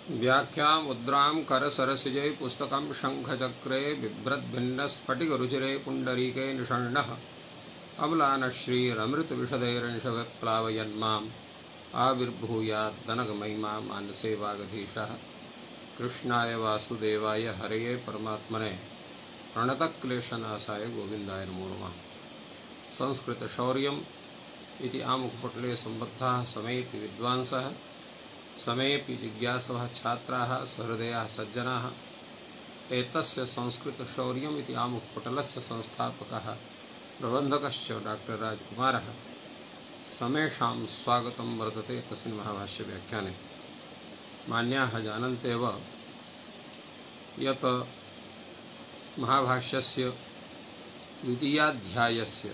व्याख्या मुद्रां करसरसिजै पुस्तकं शङ्खचक्रे बिभ्रद्भिन्नस्फटिकरुचिरे पुण्डरीके निषण्णः अम्लानश्रीरमृतविशदैरंशविप्लावयन्माम् आविर्भूयाद्दनगमहिमा मानसे वागधीशः। कृष्णाय वासुदेवाय हरये परमात्मने प्रणतक्लेशनाशाय गोविन्दाय नमो नमः। संस्कृतशौर्यम् इति आमुखपटले सम्बद्धाः समेऽपि विद्वांसः समेऽपि जिज्ञासवः छात्राः सहृदयाः सज्जनाः एतस्य संस्कृतशौर्यम् इति आमुखपटलस्य संस्थापकः प्रबन्धकश्च डॉक्टर राजकुमारः समेषां स्वागतं वर्तते तस्मिन् महाभाष्यव्याख्याने। मान्याः जानन्त्येव यत् महाभाष्यस्य द्वितीयाध्यायस्य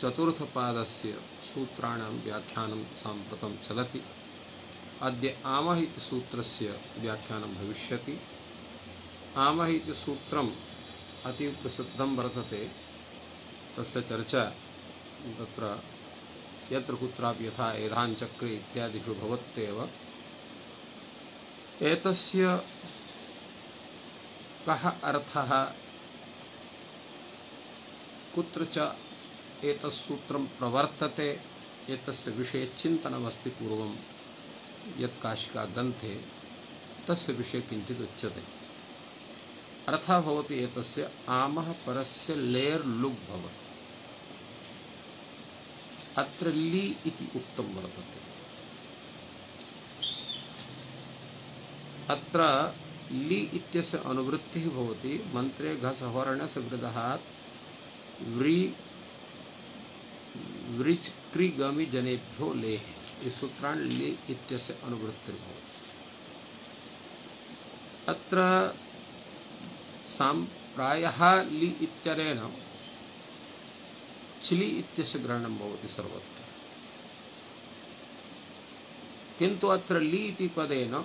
चतुर्थपादस्य सूत्राणां व्याख्यानं साम्प्रतं चलति। अद्य आमः इति सूत्रस्य व्याख्यानं भविष्यति। आमः इति सूत्रम् अतीव प्रसिद्धं वर्तते। तस्य चर्चा तत्र यत्र कुत्रापि यथा एधाञ्चक्रे इत्यादिषु भवत्येव। एतस्य कः अर्थः, कुत्र च एतत्सूत्रं प्रवर्तते, एतस्य विषये चिन्तनमस्ति पूर्वं यत् काशिका ग्रन्थे, तस्य विषये किञ्चित् उच्यते। अर्थः भवति एतस्य आमः परस्य लेर् लुग् भवति। अत्र लि इति उक्तं वर्तते। अत्र लि इत्यस्य अनुवृत्तिः भवति मन्त्रे घसवर्णस्य वृदहात् व्रिच् क्रि गमि जनेभ्यो लेः। इस सूत्रान् लि इत्यस्य अनुवृत्तिर्भवति। अत्र प्रायः लि इत्यनेन चिलि इत्यस्य ग्रहणं भवति सर्वत्र, किन्तु अत्र लि इति पदेन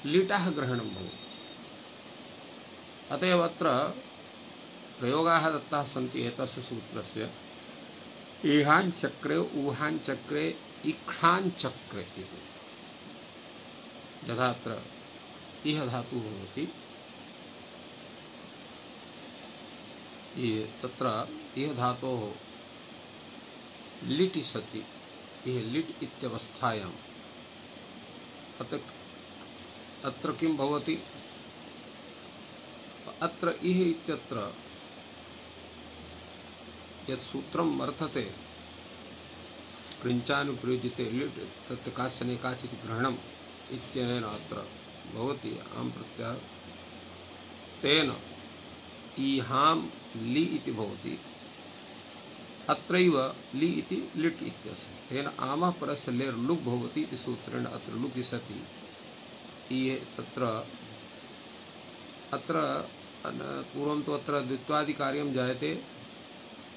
लिटः ग्रहणं भवति। अतएव अत्र प्रयोगाः दत्ताः सन्ति एतस्य सूत्रस्य। इहाञ्चक्रे ऊहाञ्चक्रे इक्षाञ्चक्रे इति। यथा अत्र इह धातुः भवति, तत्र इह धातोः लिटि सति, इह लिट् इत्यवस्थायाम् अत्र किं भवति, अत्र इह इत्यत्र यत् सूत्रं वर्तते कृञ्चानुप्रयुज्यते लिट् तत् काश्चन काचित् ग्रहणम् इत्यनेन अत्र भवति आम् प्रत्ययः। तेन ईहां लि इति भवति। अत्रैव लि इति लिट् इत्यस्य। तेन आमः परस्य लेर् लुग् भवति इति सूत्रेण अत्र लुकि सति अत्र पूर्वं तु अत्र द्वित्वादिकार्यं जायते।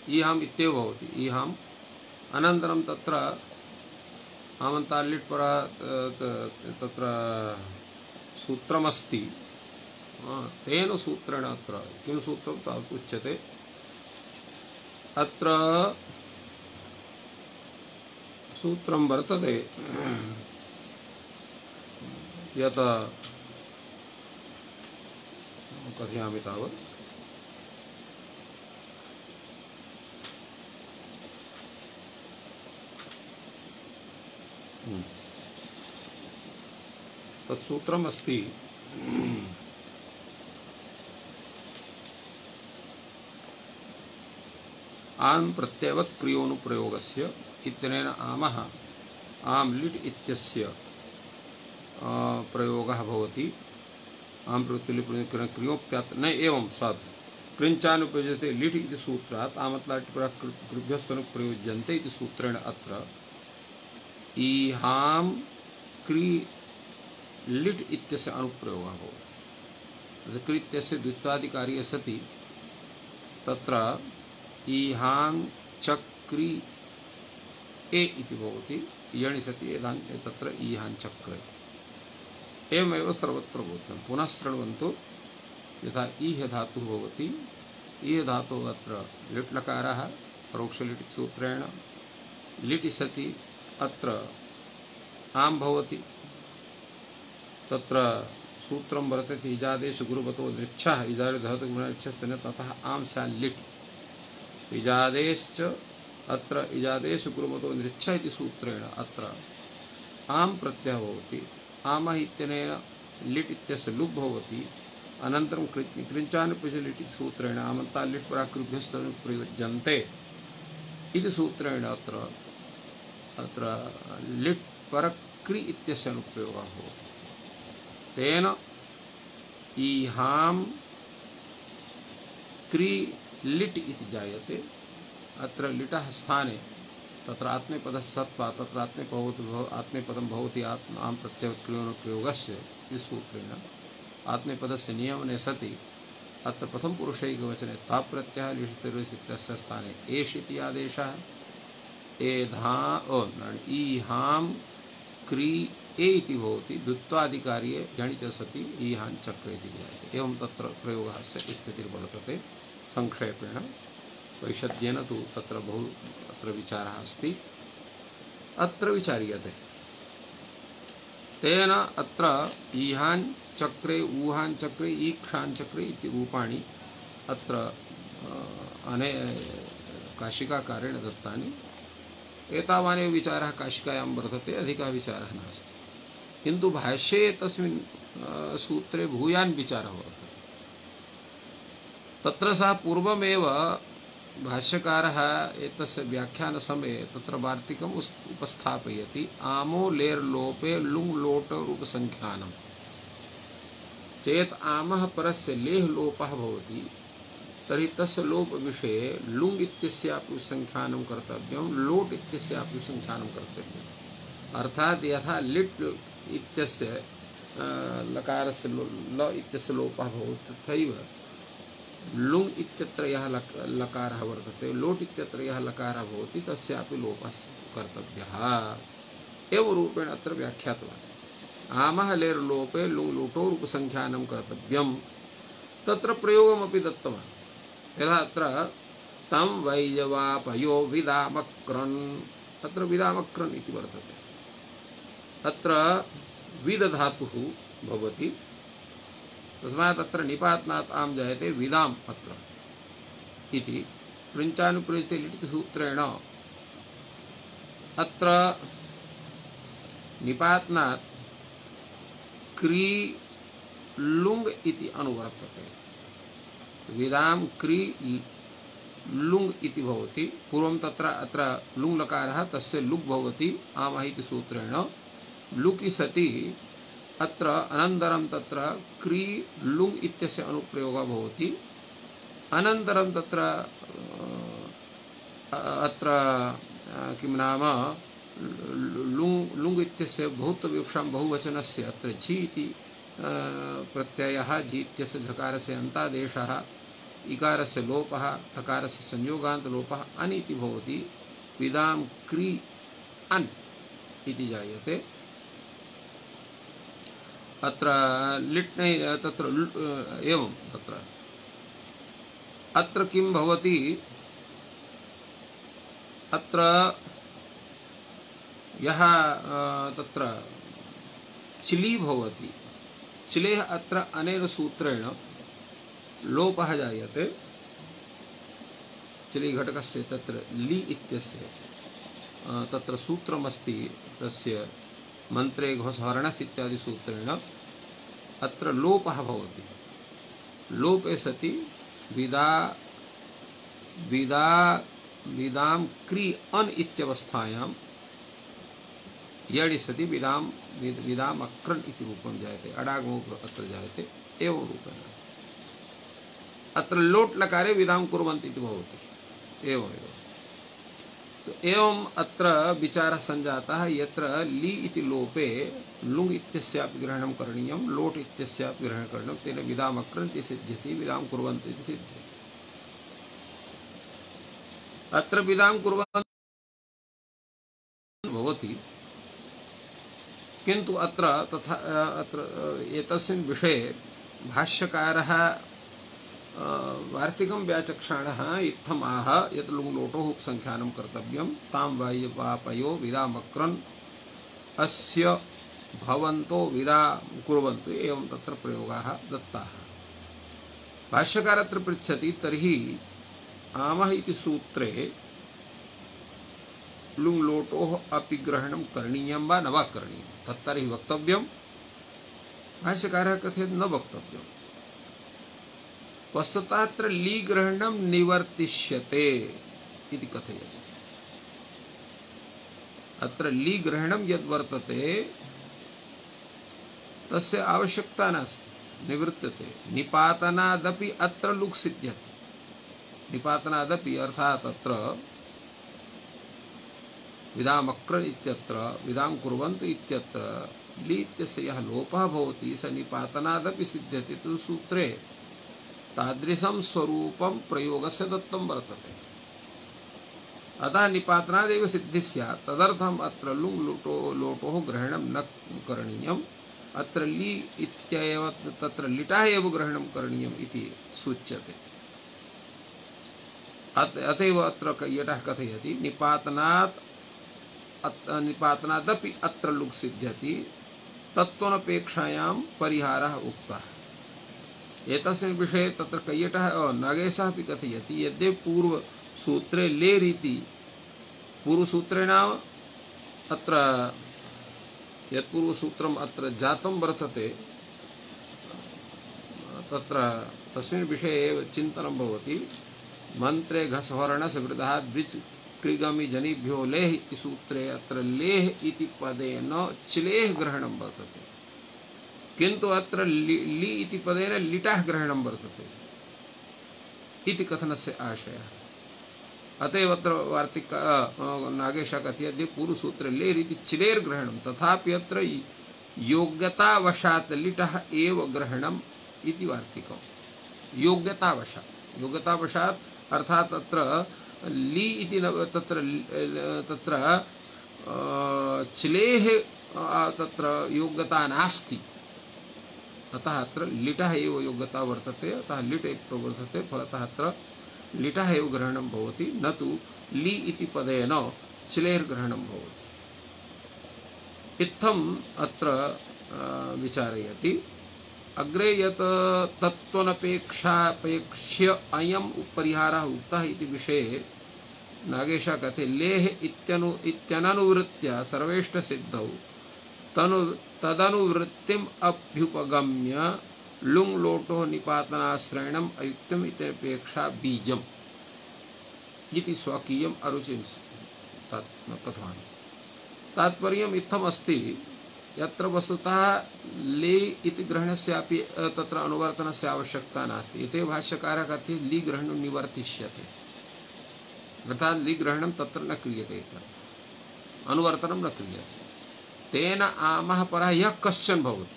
ईहाम् इत्येव भवति। ईहाम् अनन्तरं तत्र आमन्ताल्लिट् पर तत्र सूत्रमस्ति। तेन सूत्रेण अत्र किं सूत्रं तावत् उच्यते, अत्र सूत्रं वर्तते यत् कथयामि तावत् तत्सूत्रम् अस्ति आम् प्रत्ययवत् क्रियोनुप्रयोगस्य इत्यनेन आमः आम् लिट् इत्यस्य प्रयोगः भवति। आम् क्रियोप्यात् न एवं सत् कृञ्चानुप्रयुज्यते लिट् इति सूत्रात् आमत्लाट् कृभ्यस्तनुप्रयुज्यन्ते इति सूत्रेण अत्र ईहां क्रि लिट् इत्यस्य अनुप्रयोगः भवति। क्रि इत्यस्य द्वित्वादिकारी सति तत्र ईहां चक्रि ए इति भवति। यणि सति तत्र ईहां चक्रे एवमेव सर्वत्र भवति। पुनः शृण्वन्तु। यथा ईह धातुः भवति, ईह धातुः अत्र लिट् लकारः परोक्षलिट् सूत्रेण लिटि सति अत्र आम् भवति। तत्र सूत्रं वर्तते इजादेश गुरुवतो दृच्छः इजादे धहतु गुणच्छस्तेन ततः आम स्यात् लिट् इजादेश्च अत्र इजादेश गुरुवतो दृच्छः इति सूत्रेण अत्र आम प्रत्ययः भवति आमः इत्यनेन लिट् इत्यस्य लुप् भवति अनन्तरं कृञ्चानुपयुज्य लिट् इति सूत्रेण आमन्ता लिट् पराकृभ्यस्तनु प्रयुज्यन्ते इति सूत्रेण अत्र लिट् परक्रि इत्यस्य अनुप्रयोगः भवति तेन ईहां क्रि लिट् इति जायते अत्र लिटः स्थाने तत्र आत्मनेपदः सत्त्वा तत्र आत्मनेपदं भवति आम प्रत्ययक्रियोनुप्रयोगस्य इति सूत्रेण आत्मनेपदस्य नियमने सति अत्र प्रथमपुरुषैकवचने ताप्रत्ययः लिषितिर्वस् इत्यस्य स्थाने एष इति आदेशः ईहां क्रि ए इति भवति द्वित्वाधिकार्ये झणि च सति ईहां चक्रे इति जायते एवं तत्र प्रयोगः स्थितिर्वर्तते संक्षेपेण वैशद्येन तु तत्र बहु अत्र विचारः अस्ति अत्र विचार्यते तेन अत्र ईहां चक्रे ऊहां चक्रे ईक्षां चक्रे इति रूपाणि अत्र अने काशिकाकारेण दत्तानि एतावानेव विचारः काशिकायां वर्तते अधिकः विचारः नास्ति किन्तु भाष्ये तस्मिन् सूत्रे भूयान् विचारः वर्तते तत्र सः पूर्वमेव भाष्यकारः एतस्य व्याख्यानसमये तत्र वार्तिकम् उपस्थापयति आमो लेर् लोपे लुङ् लोट रूपसङ्ख्यानं चेत् आमः परस्य लेः लोपः भवति तर्हि तस्य लोप विषये लुङ् इत्यस्यापि संख्यानं कर्तव्यं लोट् इत्यस्यापि संख्यानं कर्तव्यम् अर्थात् यथा लिट् इत्यस्य लकारस्य ल इत्यस्य लोपः भवति तथैव लुङ् इत्यत्र यः लकारः वर्तते लोट् इत्यत्र यः लकारः भवति तस्यापि लोपः कर्तव्यः एवं रूपेण अत्र व्याख्यातवान् आमः लेर् लोपे लुङ् लोटो रूपसङ्ख्यानं कर्तव्यं तत्र प्रयोगमपि दत्तवान् यथा अत्र तं वैजवापयो विदामक्रन् अत्र विदामक्रन् इति वर्तते अत्र विद धातुः भवति तस्मात् अत्र निपातनात् आम जायते विदाम अत्र इति कृञ्चानुप्रयुज्यते लिट् सूत्रेण अत्र निपातनात् क्री लुङ् इति अनुवर्तते विदाम क्री लुङ् इति भवति पूर्वं तत्र अत्र लुङ् लकारः तस्य लुक् भवति आमः इति सूत्रेण लुकि सति अत्र अनन्तरं तत्र क्री लुङ् इत्यस्य अनुप्रयोगः भवति अनन्तरं तत्र अत्र किं नाम लुङ् इत्यस्य बहुत्वविवक्षां बहुवचनस्य अत्र झि इति प्रत्ययः झि इत्यस्य झकारस्य अन्तादेशः इकारस्य लोपः तकारस्य संयोगान्तलोपः अन् इति भवति विदां क्री अन् इति जायते अत्र लिट् तत्र एवं तत्र अत्र किं भवति अत्र यः तत्र चिली भवति चिलेः अत्र अनेन सूत्रेण लोपः जायते चिली घटकस्य तत्र लि इत्यस्य तत्र सूत्रमस्ति तस्य मंत्रे घोषहरणस् इत्यादि सूत्रेण अत्र लोपः भवति लोपे सति विदां क्री अन् इत्यवस्थायां यडि सति विदाम अक्रन् इति रूपं जायते अडागमो अत्र जायते एवं रूपेण अत्र लोट् लकारे विदां कुर्वन्ति इति भवति एवमेव तो एवं अत्र विचारः सञ्जातः यत्र लि इति लोपे लुङ् इत्यस्यापि ग्रहणं करणीयं लोट् इत्यस्यापि ग्रहणं करणीयं तेन विदाम अक्रन् इति सिद्ध्यति विदां कुर्वन्ति इति सिद्ध्यति अत्र विदां कुर्वन्ति भवति किन्तु अत्र तथा अत्र एतस्मिन् विषये भाष्यकारः वार्तिकं व्याचक्षाणः इत्थम् आह यत् लुङ् लोटोः उपसंख्यानं कर्तव्यं तां वापयो विदामक्रन् अस्य भवन्तो विदा कुर्वन्तु एवं तत्र प्रयोगाः दत्ताः। भाष्यकार अत्र पृच्छति तर्हि आमः इति सूत्रे लुङ् लोटोः अपि ग्रहणं करणीयं वा न वा करणीयं तत्तर्हि वक्तव्यं। भाष्यकारः कथयति न वक्तव्यं। वस्तुतः अत्र ली ग्रहणं निवर्तिष्यते इति कथयति। अत्र ली ग्रहणं यद् वर्तते तस्य आवश्यकता नास्ति, निवृत्तते। निपातनादपि अत्र लुक् सिद्ध्यति। निपातनादपि अर्थात् अत्र विदाम् अक्रन् इत्यत्र विदां कुर्वन्तु इत्यत्र ली इत्यस्य यः लोपः भवति स निपातनादपि सिद्ध्यति। तु सूत्रे तादृशं स्वरूपं प्रयोगस्य दत्तं वर्तते। अतः निपातनादेव सिद्धिः स्यात्। तदर्थम् अत्र लुङ् लोटोः ग्रहणं न करणीयम्। अत्र ली इत्येव तत्र लिटः एव ग्रहणं करणीयम् इति सूच्यते। अतएव अत्र कैयटः कथयति निपातनादपि अत्र लुक् सिद्ध्यति तत्त्वनपेक्षायां परिहारः उक्तः। एतस्मिन् विषये तत्र कैयटः नागेशः अपि कथयति यद्यपि पूर्वसूत्रे लेरीति पूर्वसूत्रे नाम अत्र यत्पूर्वसूत्रम् अत्र जातं वर्तते तत्र तस्मिन् विषये एव चिन्तनं भवति। मन्त्रे घसवर्णसवृद्धाद् द्विच कृगमि जनिभ्यो लेह इति सूत्रे अत्र लेह इति पदेन चिलेह ग्रहणं वर्तते, किन्तु अत्र ली इति पदेन लिटः ग्रहणं वर्तते इति कथनस्य आशयः। अतएव अत्र वार्तिक नागेशः कथयति पूर्वसूत्रे लेर् इति चिलेर् ग्रहणं तथापि अत्र योग्यतावशात् लिटः एव ग्रहणम् इति वार्तिकम्। योग्यतावशात् अर्थात् तत्र ली इति तत्र चिलेः तत्र योग्यता नास्ति। अतः अत्र लिटः एव योग्यता वर्तते। अतः लिट् एव प्रवर्तते। फलतः अत्र लिटः एव ग्रहणं भवति, न तु ली इति पदेन चिलेर्ग्रहणं भवति। इत्थम् अत्र विचारयति। अग्रे यत् तत्त्वनपेक्षापेक्ष्य अयं परिहारः उक्तः इति विषये नागेशः कथयति लेह इत्यननुवृत्त्या सर्वेष्टसिद्धौ तदनुवृत्तिम् अभ्युपगम्य लुङ् लोटोः निपातनाश्रयणम् अयुक्तम् इत्यपेक्षा बीजम् इति स्वकीयम् अरुचिं कथवान्। तात्पर्यम् इत्थमस्ति यत्र वस्तुतः ले इति ग्रहणस्यापि तत्र अनुवर्तनस्य आवश्यकता नास्ति। इति भाष्यकारः कथयति ली ग्रहणं निवर्तिष्यते, अर्थात् ली ग्रहणं तत्र न क्रियते, अनुवर्तनं न क्रियते। तेन आमः परः यः कश्चन भवति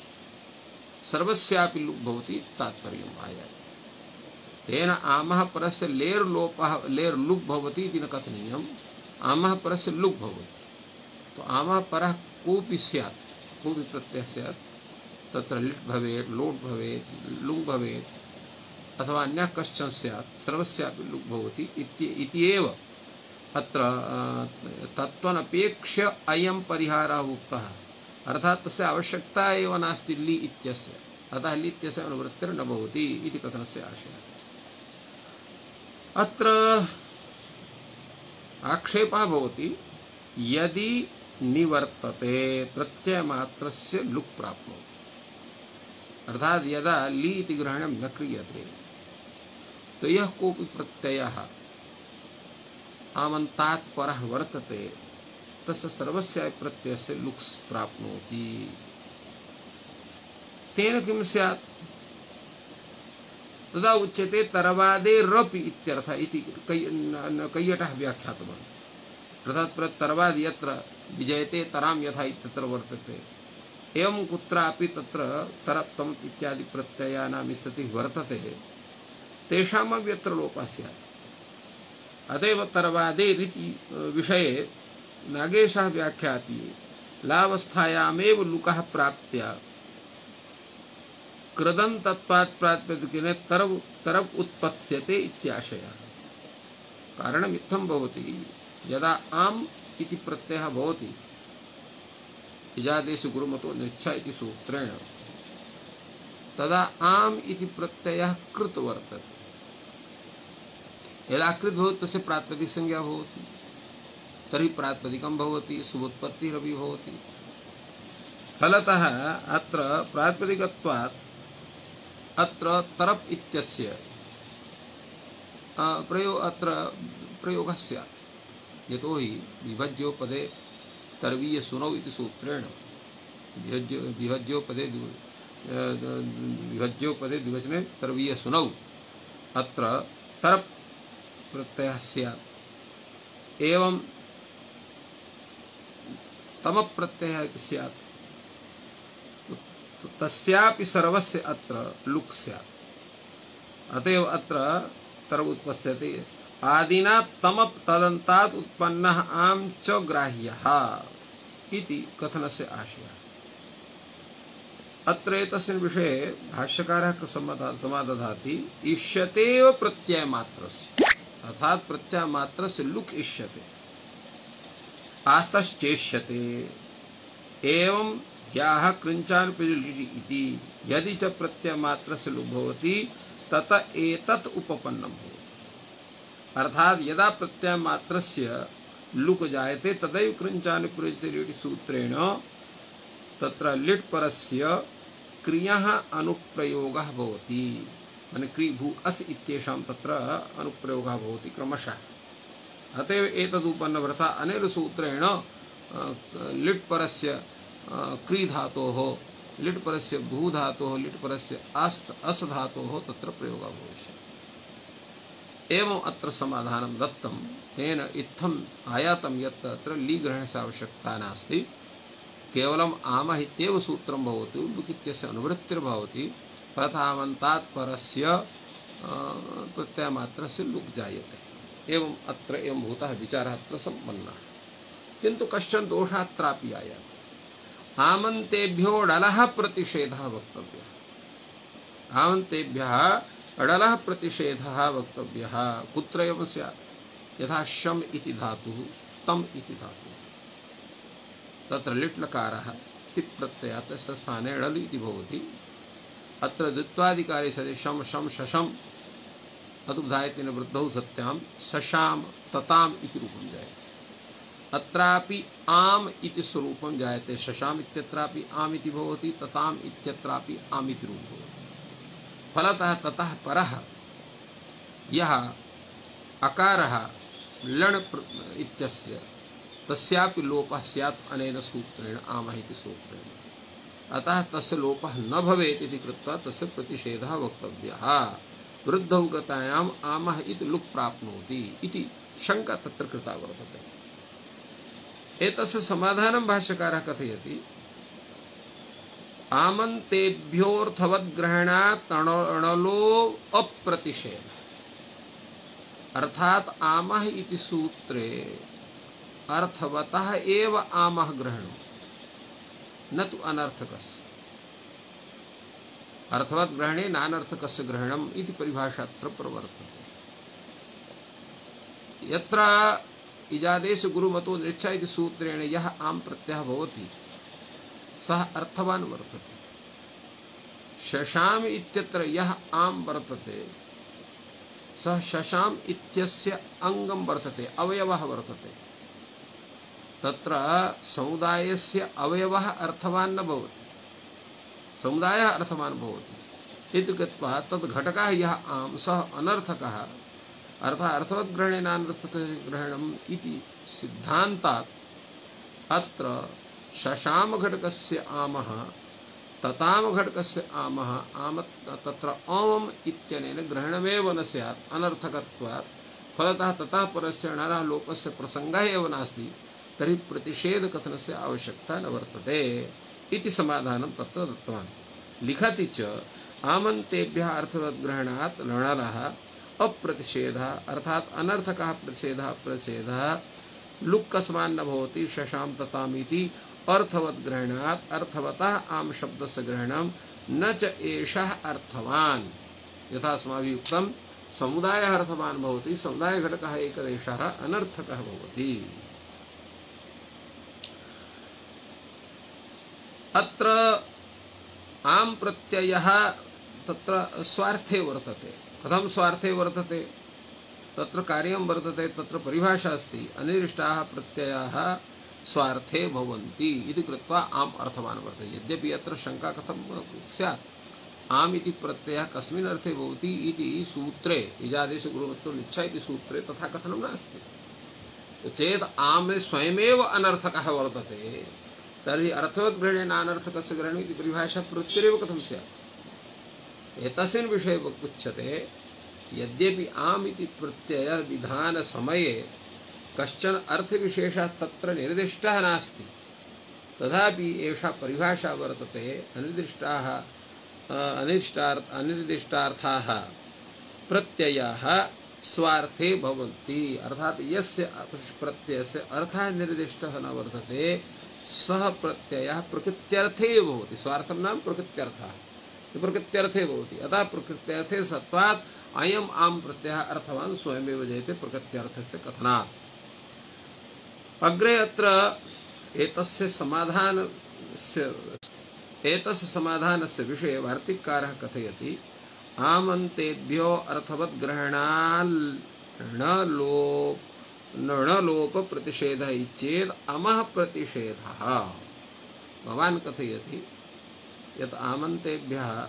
सर्वस्यापि लुक् भवति तात्पर्यम् आयाति। तेन आमः परस्य लेर् लुक् भवति इति न कथनीयम्। आमः परस्य लुक् भवति तो आमः परः कोऽपि स्यात्, कोऽपि प्रत्ययः स्यात्, तत्र लिट् भवेत्, लोट् भवेत्, लुङ् भवेत् अथवा अन्यः कश्चन स्यात्, सर्वस्यापि लुक् भवति इति एव अत्र तत्त्वनपेक्ष्य अयं परिहारः उक्तः। अर्थात् तस्य आवश्यकता एव नास्ति ली इत्यस्य। अतः ली इत्यस्य अनुवृत्तिर्न भवति इति कथनस्य आशयः। अत्र आक्षेपः भवति यदि निवर्तते प्रत्ययमात्रस्य लुक् प्राप्नोति, अर्थात् यदा ली इति ग्रहणं न क्रियते तो यः कोऽपि प्रत्ययः आमन्तात् परः वर्तते तस्य सर्वस्यापि प्रत्ययस्य लुक् प्राप्नोति। तेन किं स्यात्? तदा उच्यते तरवादे रपि इत्यर्थः इति कैयटः व्याख्यातवान्। अर्थात् तरवाद यत्र विजयते तरां यथा इत्यत्र वर्तते, एवं कुत्रापि तत्र तरप्तम् इत्यादि प्रत्ययानां स्थितिः वर्तते, तेषामपि यत्र लोपः स्यात्। अतएव तरवादे रीति विषये नागेशः व्याख्याति लावस्थायामेव लुकः प्राप्त्या कृदन् तत्पात् प्रातिपदिकेन तरव उत्पत्स्यते इत्याशयः। कारणम् इत्थं भवति, यदा आम् इति प्रत्ययः भवति इजादेश गुरुमतो निच्छा इति सूत्रेण तदा आम इति प्रत्ययः कृत वर्तते। यदा कृत भवति तस्य प्रातिपदिक संज्ञा भवति, तर्हि प्रातिपदिकं भवति, शुभोत्पत्तिरपि भवति। फलतः अत्र प्रातिपदिकत्वात् अत्र तरप् इत्यस्य प्रयोगः स्यात्। यतोहि विभज्योपदे तर्वीयसुनौ इति सूत्रेण विभज्योपदे द्विवचने तर्वीयसुनौ अत्र तरप् प्रत्ययः स्यात्। एवं तमप् प्रत्ययः स्यात्, तस्यापि सर्वस्य अत्र लुक् स्यात्। अतएव अत्र तरप् उत्पत्स्यते। आदिना तमप् तदन्तात् उत्पन्नः आम् च ग्राह्यः इति कथनस्य आशयः। अत्र एतस्मिन् विषये भाष्यकारः समादधाति इष्यतेव प्रत्ययमात्रस्य, अर्थात् प्रत्ययमात्रस्य लुक् इष्यते, आतश्चेष्यते। एवं याः कृञ्चानुपयुज्यति इति यदि च प्रत्ययमात्रस्य लुक् भवति तत एतत् उपपन्नं भवति। अर्थात् यदा प्रत्ययमात्रस्य लुक् जायते तदैव कृञ्चानुप्रयुज्यते इति सूत्रेण तत्र लिट् परस्य क्रियः अनुप्रयोगः भवति। माने क्री भू अस् इत्येषां तत्र अनुप्रयोगः भवति क्रमशः। अतएव एतदुपन्नवृथा अनेन सूत्रेण लिट् परस्य क्री धातोः, लिट् परस्य भू धातोः, लिट् परस्य अस् धातोः तत्र प्रयोगः भविष्यति। एवं अत्र समाधानं दत्तं। तेन इत्थम् आयातं यत् अत्र लीग्रहणस्य आवश्यकता नास्ति, केवलम् आमः इत्येव सूत्रं भवति, लुक् इत्यस्य अनुवृत्तिर्भवति, प्रथावन्तात् परस्य प्रत्ययमात्रस्य लुक् जायते। एवं अत्र एवं भूतः विचारः अत्र सम्पन्नः। किन्तु कश्चन दोषः अत्रापि आयाति। आमन्तेभ्यो ढलः प्रतिषेधः वक्तव्यः। आमन्तेभ्यः अडलः प्रतिषेधः वक्तव्यः। कुत्र एवं स्यात्? यथा शम इति धातुः, तम इति धातुः, तत्र लिट् लकारः तिप् प्रत्ययः तस्य स्थाने ढल् इति भवति। अत्र द्वित्वादिकारे सति शम शम शशम अदुधायतेन वृद्धौ सत्यां शशाम तताम इति रूपं जायते। अत्रापि आम इति स्वरूपं जायते। शशाम इत्यत्रापि आम इति भवति, तताम इत्यत्रापि आम इति रूपं भवति। फलतः ततः परः यः अकारः लण् इत्यस्य तस्यापि लोपः स्यात् अनेन सूत्रेण, आमः इति सूत्रेण। अतः तस्य लोपः न भवेत् इति कृत्वा तस्य प्रतिषेधः वक्तव्यः। वृद्धौ गतायाम् आमः इति लुक् प्राप्नोति इति शङ्का तत्र कृता वर्तते। एतस्य समाधानं भाष्यकारः कथयति। आमन्तेभ्योऽर्थवद्ग्रहणात् अणलो अप्रतिषेधः। अर्थात् आमः इति सूत्रे अर्थवतः एव आमः ग्रहणं, न तु अनर्थकस्य। अर्थवत् ग्रहणे नानर्थकस्य ग्रहणम् इति परिभाषा अत्र प्रवर्तते। यत्र इजादेश गुरुमतो निच्छा इति सूत्रेण यः आम् प्रत्ययः भवति सः अर्थवान् वर्तते। शशाम इत्यत्र यः आम् वर्तते सः शशाम इत्यस्य अंगं वर्तते, अवयवः वर्तते। तत्र समुदायस्य अवयवः अर्थवान् न भवति, समुदायः अर्थवान् भवति। इति कृत्वा तद् घटकः यः आम् सः अनर्थकः, अर्थात् अर्थवद्ग्रहणे नानर्थकग्रहणम् इति सिद्धान्तात् अत्र शशाम घटकस्य आमः तताम घटकस्य आमः आम तत्र ओम इत्यनेन ग्रहणमेव न स्यात् अनर्थकत्वात्। फलतः ततः परस्य णरः लोपस्य प्रसङ्गः एव नास्ति, तर्हि प्रतिषेधकथनस्य आवश्यकता न वर्तते इति समाधानं तत्र दत्तवान्। लिखति च आमन्तेभ्यः अर्थवद्ग्रहणात् णरः अप्रतिषेधः अर्थात् अनर्थकः प्रतिषेधः लुक् कस्मान् न भवति शशाम तताम इति अर्थवद्ग्रहणात् अर्थवतः आम शब्दस्य ग्रहणं न च एषः अर्थवान्। यथा अस्माभिः उक्तं समुदायः अर्थवान् भवति, समुदायघटकः एकदेशः अनर्थकः भवति। अत्र आम प्रत्ययः तत्र स्वार्थे वर्तते। कथं स्वार्थे वर्तते? तत्र कार्यं वर्तते, तत्र परिभाषा अस्ति, अनिर्दिष्टाः प्रत्ययाः स्वार्थे भवन्ति इति कृत्वा आम अर्थवान् वर्तते। यद्यपि अत्र शंका कथं स्यात्, आम इति प्रत्ययः कस्मिन् अर्थे भवति इति सूत्रे, इजादेश गुरुवत्तो निच्छा इति सूत्रे तथा कथनं नास्ति। चेत् आम स्वयमेव अनर्थकः वर्तते, तर्हि अर्थवद्ग्रहणेन अनर्थकस्य ग्रहणम् इति परिभाषा प्रत्यरेव कथं स्यात्? एतस्मिन् विषये उच्यते, यद्यपि आम इति प्रत्यय विधान समये कश्चन अर्थविशेषः तत्र निर्दिष्टः नास्ति, तथापि एषा परिभाषा वर्तते, अनिर्दिष्टार्थाः प्रत्ययाः स्वार्थे भवन्ति। अर्थात यस्य प्रत्ययस्य अर्थः निर्दिष्टः न वर्तते, सः प्रत्ययः प्रकृत्यर्थे एव भवति। स्वार्थं नाम प्रकृत्यर्थः, प्रकृत्यर्थे भवति। अतः प्रकृत्यर्थे सत्वात् अयम् आम प्रत्ययः अर्थवान् स्वयमेव जयते प्रकृत्यर्थस्य कथनात्। अग्रे अत्र एतस्य समाधानस्य विषये वार्तिककारः कथयति, आमन्तेभ्यो अर्थवद्ग्रहणाल् न लोप प्रतिषेधः चेत् अमः प्रतिषेधः। भवान् कथयति यत् आमन्तेभ्यः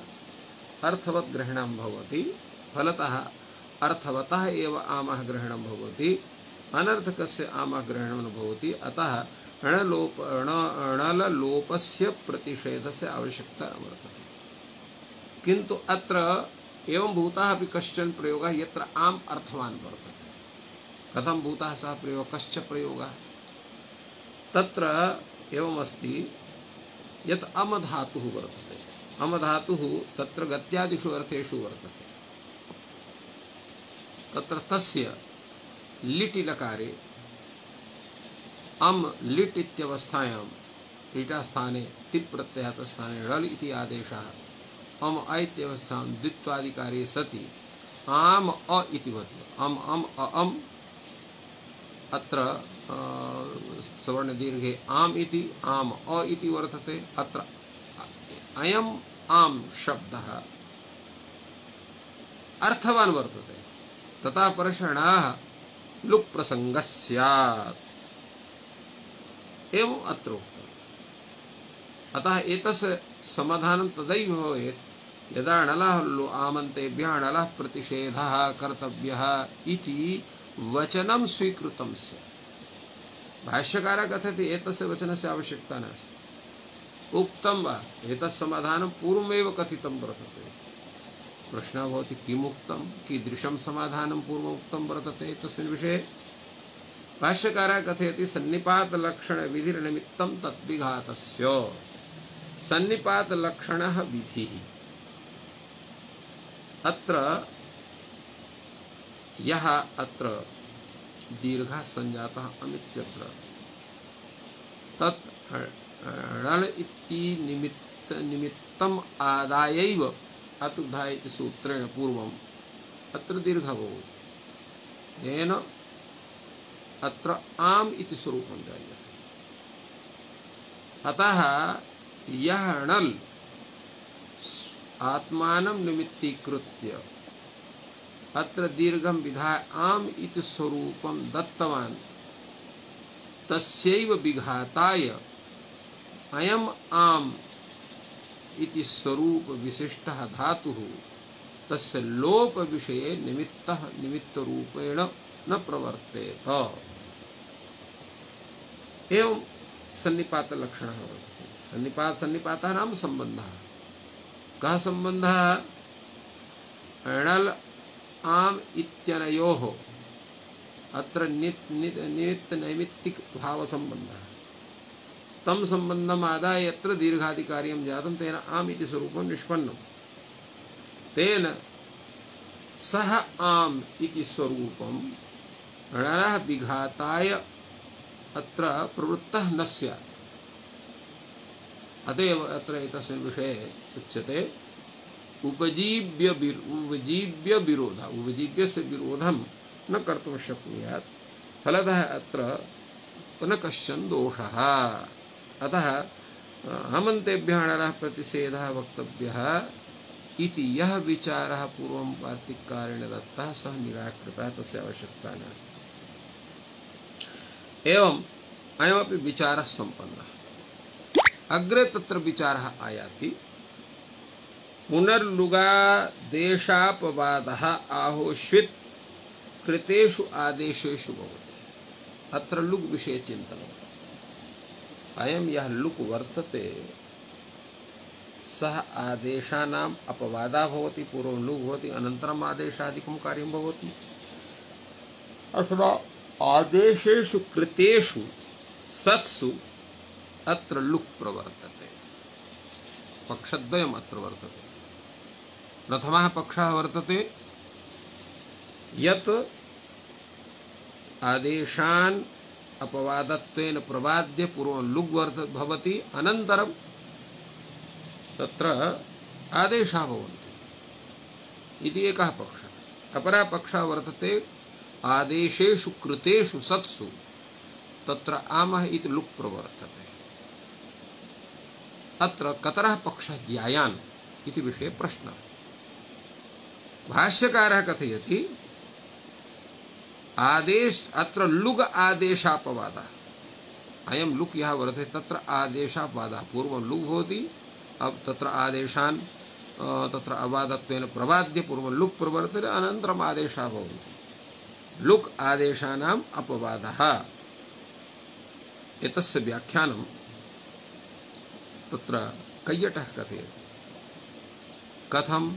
अर्थवद्ग्रहणं भवति, फलतः अर्थवतः एव आमः ग्रहणं भवति, अनर्थकस्य आमः ग्रहणं न भवति। अतः णलोपस्य प्रतिषेधस्य आवश्यकता न वर्तते। किन्तु अत्र एवं भूतः अपि कश्चन प्रयोगः यत्र आम अर्थवान् वर्तते। कथं भूतः सः प्रयोगः, कश्च प्रयोगः? तत्र एवमस्ति यत् अमधातुः वर्तते। अमधातुः तत्र गत्यादिषु अर्थेषु वर्तते। तत्र तस्य लिटि लकारे अम लिट् इत्यवस्थायां लीटास्थाने तिप् प्रत्ययात् स्थाने ळल् इति आदेशः अम अ इत्यवस्थां द्वित्वादिकारे सति आम अ इति भवति। अम अम अम अत्र सवर्णदीर्घे आम इति आम अ इति वर्तते। अत्र अयम् आम शब्दः अर्थवान् वर्तते, तथा परषणाः लुक् प्रसंगः स्यात् एवं अत्र उक्तम्। अतः एतस्य समाधानं तदैव भवेत् यदा णलः आमन्तेभ्यः णलः प्रतिषेधः कर्तव्यः इति वचनं स्वीकृतं स्यात्। भाष्यकारः कथयति एतस्य वचनस्य आवश्यकता नास्ति। उक्तं वा? एतत् समाधानं पूर्वमेव कथितं वर्तते। प्रश्नः भवति किमुक्तं, कीदृशं समाधानं पूर्वमुक्तं वर्तते तस्मिन् विषये? भाष्यकारः कथयति सन्निपातलक्षणविधिर्निमित्तं तद्विघातस्य। सन्निपातलक्षणः विधिः। अत्र यः अत्र दीर्घः सञ्जातः अमित्यत्र तत् णल् इति निमित्तम् आदायैव अतुद्धा इति सूत्रेण पूर्वम् अत्र दीर्घः भवति। येन अत्र आम इति स्वरूपं जायते। अतः यः णल् आत्मानं निमित्तीकृत्य अत्र दीर्घं विधाय आम इति स्वरूपं दत्तवान्, तस्यैव विघाताय अयम् आम इति स्वरूप विशिष्टः धातुः तस्य लोप विषये निमित्त रूपेण न प्रवर्तेत। एवं सन्निपात लक्षणः वर्तते। सन्निपातः नाम सम्बन्धः। कः सम्बन्धः? णल् आम इत्यनयोः अत्र निमित्त नैमित्तिक भाव सम्बन्धः। तम सम्बन्धम् आदाय यत्र दीर्घादिकार्यं जातं तेन आम इति स्वरूपं निष्पन्नं। तेन सः आम इति स्वरूपं णलः विघाताय अत्र प्रवृत्तः न स्यात्। अतएव अत्र एतस्मिन् विषये उच्यते उपजीव्य विरोधः। उपजीव्यस्य विरोधं न कर्तुं शक्नुयात्। फलतः अत्र न कश्चन दोषः। अतः हमन्तेभ्यः णरः प्रतिषेधः वक्तव्यः इति यः विचारः पूर्वं वार्तिककारेण दत्तः सः निराकृतः, तस्य आवश्यकता नास्ति। एवं अयमपि विचारः सम्पन्नः। अग्रे तत्र विचारः आयाति पुनर्लुगादेशापवादः आहोष्वित् कृतेषु आदेशेषु भवति। अत्र लुग् विषये चिन्तनम्। अयं यः लुक् वर्तते सः आदेशानाम् अपवादः भवति। पूर्वं लुग् भवति, अनन्तरम् आदेशादिकं कार्यं भवति। अथवा आदेशेषु कृतेषु सत्सु अत्र लुक् प्रवर्तते। पक्षद्वयम् अत्र वर्तते। प्रथमः पक्षः वर्तते यत् आदेशान् अपवादत्वेन प्रवाद्य पूर्वं लुग् भवति, अनन्तरं तत्र आदेशाः भवन्ति इति एकः पक्षः। अपरः पक्षः वर्तते आदेशेषु कृतेषु सत्सु तत्र आमः इति लुक् प्रवर्तते। अत्र कतरः पक्षः ज्ञायान् इति विषये प्रश्नः। भाष्यकारः कथयति अत्र लुग् आदेशापवादः। अयं लुक् यः वर्तते तत्र आदेशापवादः। पूर्वं लुग् भवति, अब तत्र आदेशान् तत्र अवादत्वेन प्रवाद्य पूर्वं लुक् प्रवर्तते, अनन्तरम् आदेशाः भवन्ति। लुक् आदेशानाम् अपवादः। एतस्य व्याख्यानं तत्र कैयटः कथयति। कथं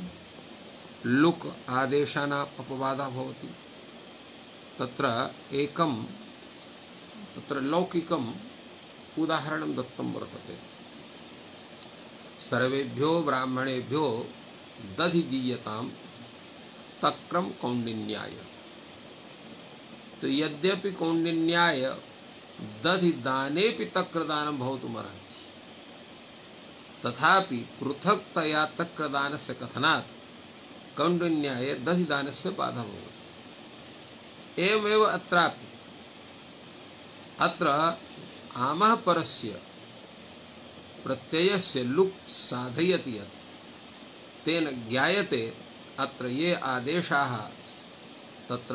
लुक् आदेशानाम् अपवादः भवति? तत्र एकं तत्र लौकिकम् उदाहरणं दत्तं वर्तते। सर्वेभ्यो ब्राह्मणेभ्यो दधि दीयतां तक्रं कौण्डिन्याय। तो यद्यपि कौण्डिन्याय दधि दानेपि तक्रदानं भवितुमर्हति, तथापि पृथक्तया तक्रदानस्य कथनात् कौण्डिन्याये दधिदानस्य बाधा भवति। एवमेव अत्रापि अत्र आमः परस्य प्रत्ययस्य लुक् साधयति यत् तेन ज्ञायते अत्र ये आदेशाः तत्र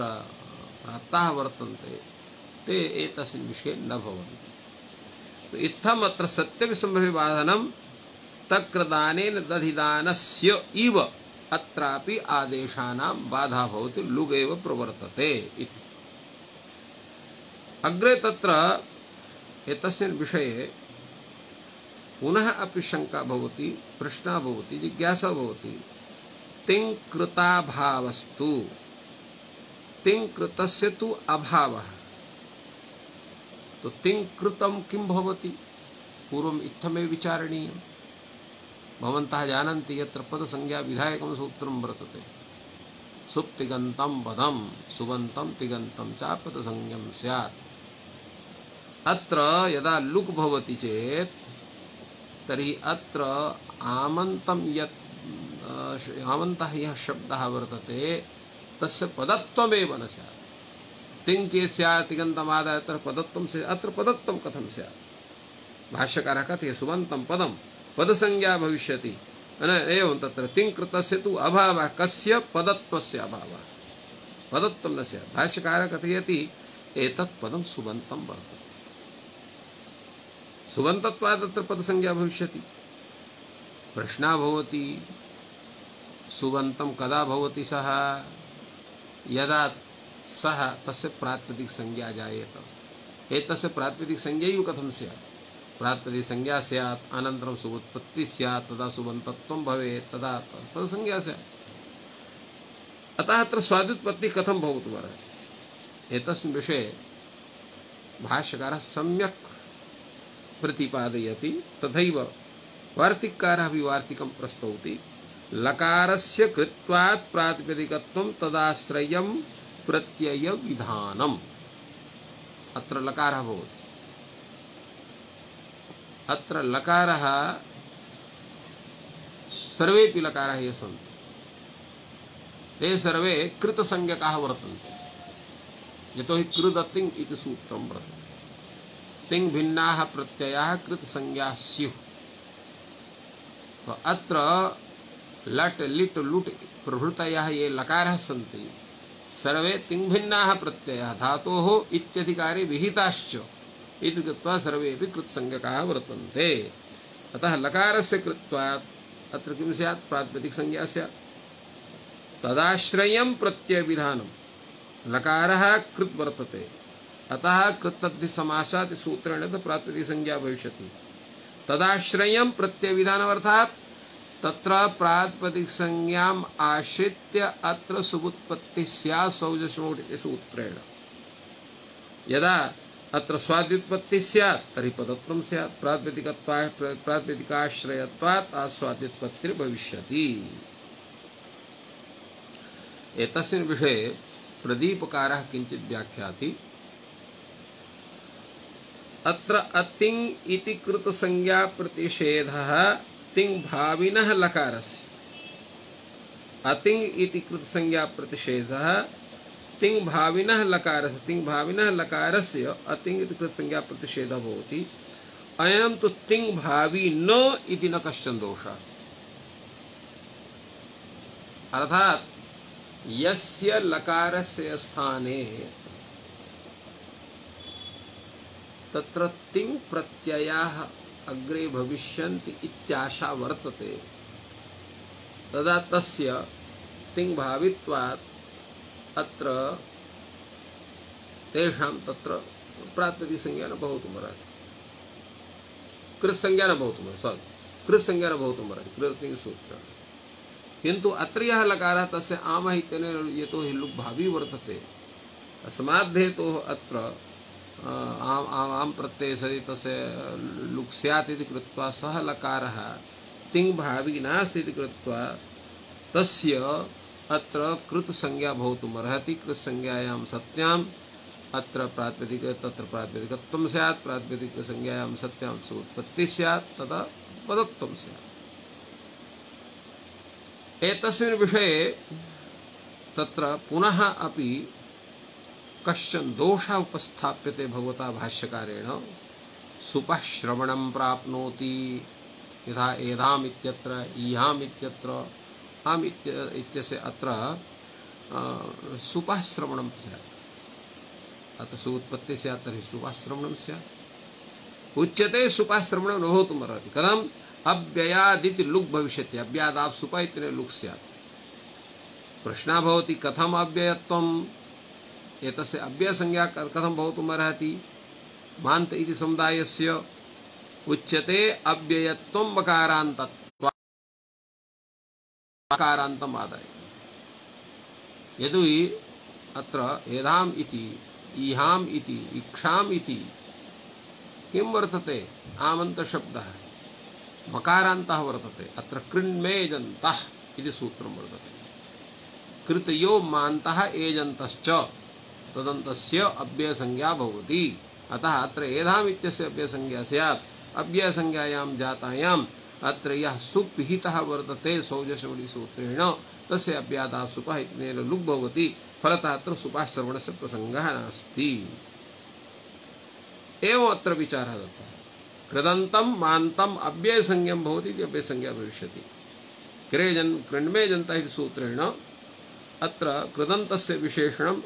प्राप्ताः वर्तन्ते ते एतस्मिन् विषये न भवन्ति। तो इत्थम् अत्र सत्यविसम्भविबाधनं तक्रदानेन दधिदानस्य इव अत्रापि आदेशानां बाधा भवति, लुग् एव प्रवर्तते इति। अग्रे तत्र एतस्मिन् विषये पुनः अपि शंका भवति, प्रश्नः भवति, जिज्ञासा भवति। तिङ्कृताभावस्तु, तिङ्कृतस्य तु अभावः। तो तिङ्कृतं किं भवति? पूर्वम् इत्थमेव विचारणीयम्। भवन्तः जानन्ति यत्र पदसंज्ञा विधायकं सूत्रं वर्तते। सुप्तिगन्तं पदं सुबन्तं तिगन्तं च पदसंज्ञं स्यात्। अत्र यदा लुक् भवति चेत् तर्हि अत्र आमन्तं यत् आमन्तः यः शब्दः वर्तते तस्य पदत्वमेव न स्यात्। तिङ् चेत् स्यात्, तिगन्तमादाय अत्र पदत्वं स्यात्। अत्र पदत्वं कथं स्यात्? भाष्यकारः कथयति सुबन्तं पदं पदसंज्ञा भविष्यति। एवं तत्र तिङ्कृतस्य तु अभावः। कस्य? पदत्वस्य अभावः। पदत्वं न स्यात्। भाष्यकारः कथयति एतत् पदं सुबन्तं वर्तते। सुबन्तत्वात् तत्र पदसंज्ञा भविष्यति। प्रश्नः भवति सुबन्तं कदा भवति सः? यदा सः तस्य प्रातिपदिक संज्ञा जायेत। एतस्य प्रातिपदिक संज्ञैव कथं स्यात्? प्रातिपदिक संज्ञा स्यात्, अनन्तरं सुबुत्पत्ति स्यात्, तदा सुबन्तत्वं भवेत्, तदा पदसंज्ञा स्यात्। अतः अत्र स्वादुत्पत्ति कथं भवितुमर्हति? एतस्मिन् विषये भाष्यकारः सम्यक् प्रतिपादयति। तथैव वार्तिककारः अपि वार्तिकं प्रस्तौति। लकारस्य कृत्वात् प्रातिपदिकत्वं तदाश्रयं प्रत्यय विधानम्। अत्र लकारः भवति। अत्र लकारः सर्वेपि लकाराः ये सन्ति ते सर्वे कृतसंज्ञकाः वर्तन्ते। यतोहि कृदतिङ् इति सूत्रं वर्तते। तिङ् भिन्नाः प्रत्ययाः कृतसंज्ञाः स्युः तो अत्र लट् लिट् लुट् प्रभृतयः ये लकाराः सन्ति सर्वे तिङ्भिन्नाः प्रत्ययाः धातोः इत्यधिकारे विहिताश्च इति कृत्वा सर्वेपि कृत्संज्ञकाः वर्तन्ते। अतः लकारस्य कृत्वात् अत्र किं स्यात्? प्रातिपदिकसंज्ञा स्यात्। तदाश्रयं प्रत्ययविधानं लकारः कृत् वर्तते, अतः कृत्तद्धिसमासात् सूत्रेण प्रातिपदिकसंज्ञा भविष्यति। तदाश्रयं प्रत्ययविधानमर्थात् तत्र प्रातिपदिकसंज्ञाम् आश्रित्य अत्र सुबुत्पत्तिः स्यात् सौजस्मौट् इति सूत्रेण। यदा अत्र स्वाद्युत्पत्तिः स्यात् तर्हि पदत्वं स्यात्, प्रातिपदिकाश्रयत्वात् आस्वाद्युत्पत्तिर्भविष्यति। एतस्मिन् विषये प्रदीपकारः किञ्चित् व्याख्याति। अत्र अतिङ् इति कृतसंज्ञा प्रतिषेधः तिङ् भाविनः लकारस्य। अतिङ् इति कृतसंज्ञा प्रतिषेधः तिङ् भाविनः लकारस्य, तिङ् भाविनः लकारस्य अतिङ् इति कृतसंज्ञा प्रतिषेधः भवति। अयं तु तिङ् भावी न इति न कश्चन दोषः। अर्थात् यस्य लकारस्य स्थाने तत्र तिङ् प्रत्ययाः अग्रे भविष्यन्ति इत्याशा वर्तते, तदा तस्य तिङ् भावित्वात् अत्र तेषां तत्र प्रातिपदिकसंज्ञा न भवितुमर्हति, कृत्संज्ञा न भवितुमर्हति, कृत्संज्ञा न भवितुमर्हति कृतिसूत्रेण। किन्तु अत्र यः लकारः तस्य आमः इत्यनेन यतोहि लुक् भावी वर्तते, अस्माद् हेतोः अत्र आम प्रत्यये सति तस्य लुक् स्यात् इति कृत्वा सः लकारः तिङ् भावी नास्ति इति कृत्वा तस्य अत्र कृत संज्ञा भवितुमर्हति। कृत्संज्ञायां सत्याम् अत्र प्रातिपदिक तत्र प्रातिपदिकत्वं स्यात्, प्रातिपदिकसंज्ञायां सत्यां सुबुत्पत्तिः स्यात्, तदा पदत्वं स्यात्। एतस्मिन् विषये तत्र पुनः अपि कश्चन दोषः उपस्थाप्यते भगवता भाष्यकारेण। सुपः श्रवणं प्राप्नोति यथा एधाम् इत्यत्र ईहाम् इत्यत्र आम् इत्यस्य अत्र सुपः श्रवणं स्यात्, अत्र सुबुत्पत्तिः स्यात् तर्हि सुपः श्रवणं स्यात्। उच्यते सुपः श्रवणं न भवितुमर्हति। कथम्? अव्ययादिति लुक् भविष्यति, अव्यादात् सुप इत्यनेन लुक् स्यात्। प्रश्नः भवति कथम् अव्ययत्वम्? एतस्य अव्ययसंज्ञा कथं भवितुमर्हति? मान्त इति समुदायस्य उच्यते अव्ययत्वं मकारान्तत्वात्, मकारान्तम् आदाय। यदि अत्र एधाम् इति ईहाम् इति इक्षाम् इति किं वर्तते? आमन्तशब्दः मकारान्तः वर्तते। अत्र कृण्मेजन्तः इति सूत्रं वर्तते। कृतयो मान्तः एजन्तश्च तदन्तस्य अव्ययसंज्ञा भवति। अतः अत्र एधाम् इत्यस्य अव्ययसंज्ञा स्यात्। अव्ययसंज्ञायां जातायाम् अत्र यः सुप् विहितः वर्तते सौजस्मौटि सूत्रेण तस्य अव्यादात् सुपः इत्यनेन लुक् भवति। फलतः अत्र सुपः श्रवणस्य प्रसङ्गः नास्ति। एवम् अत्र विचारः दत्तः। कृदन्तं मान्तम् अव्ययसंज्ञं भवति इति अव्ययसंज्ञा भविष्यति। कृण्मेजन्तः इति सूत्रेण अत्र कृदन्तस्य विशेषणं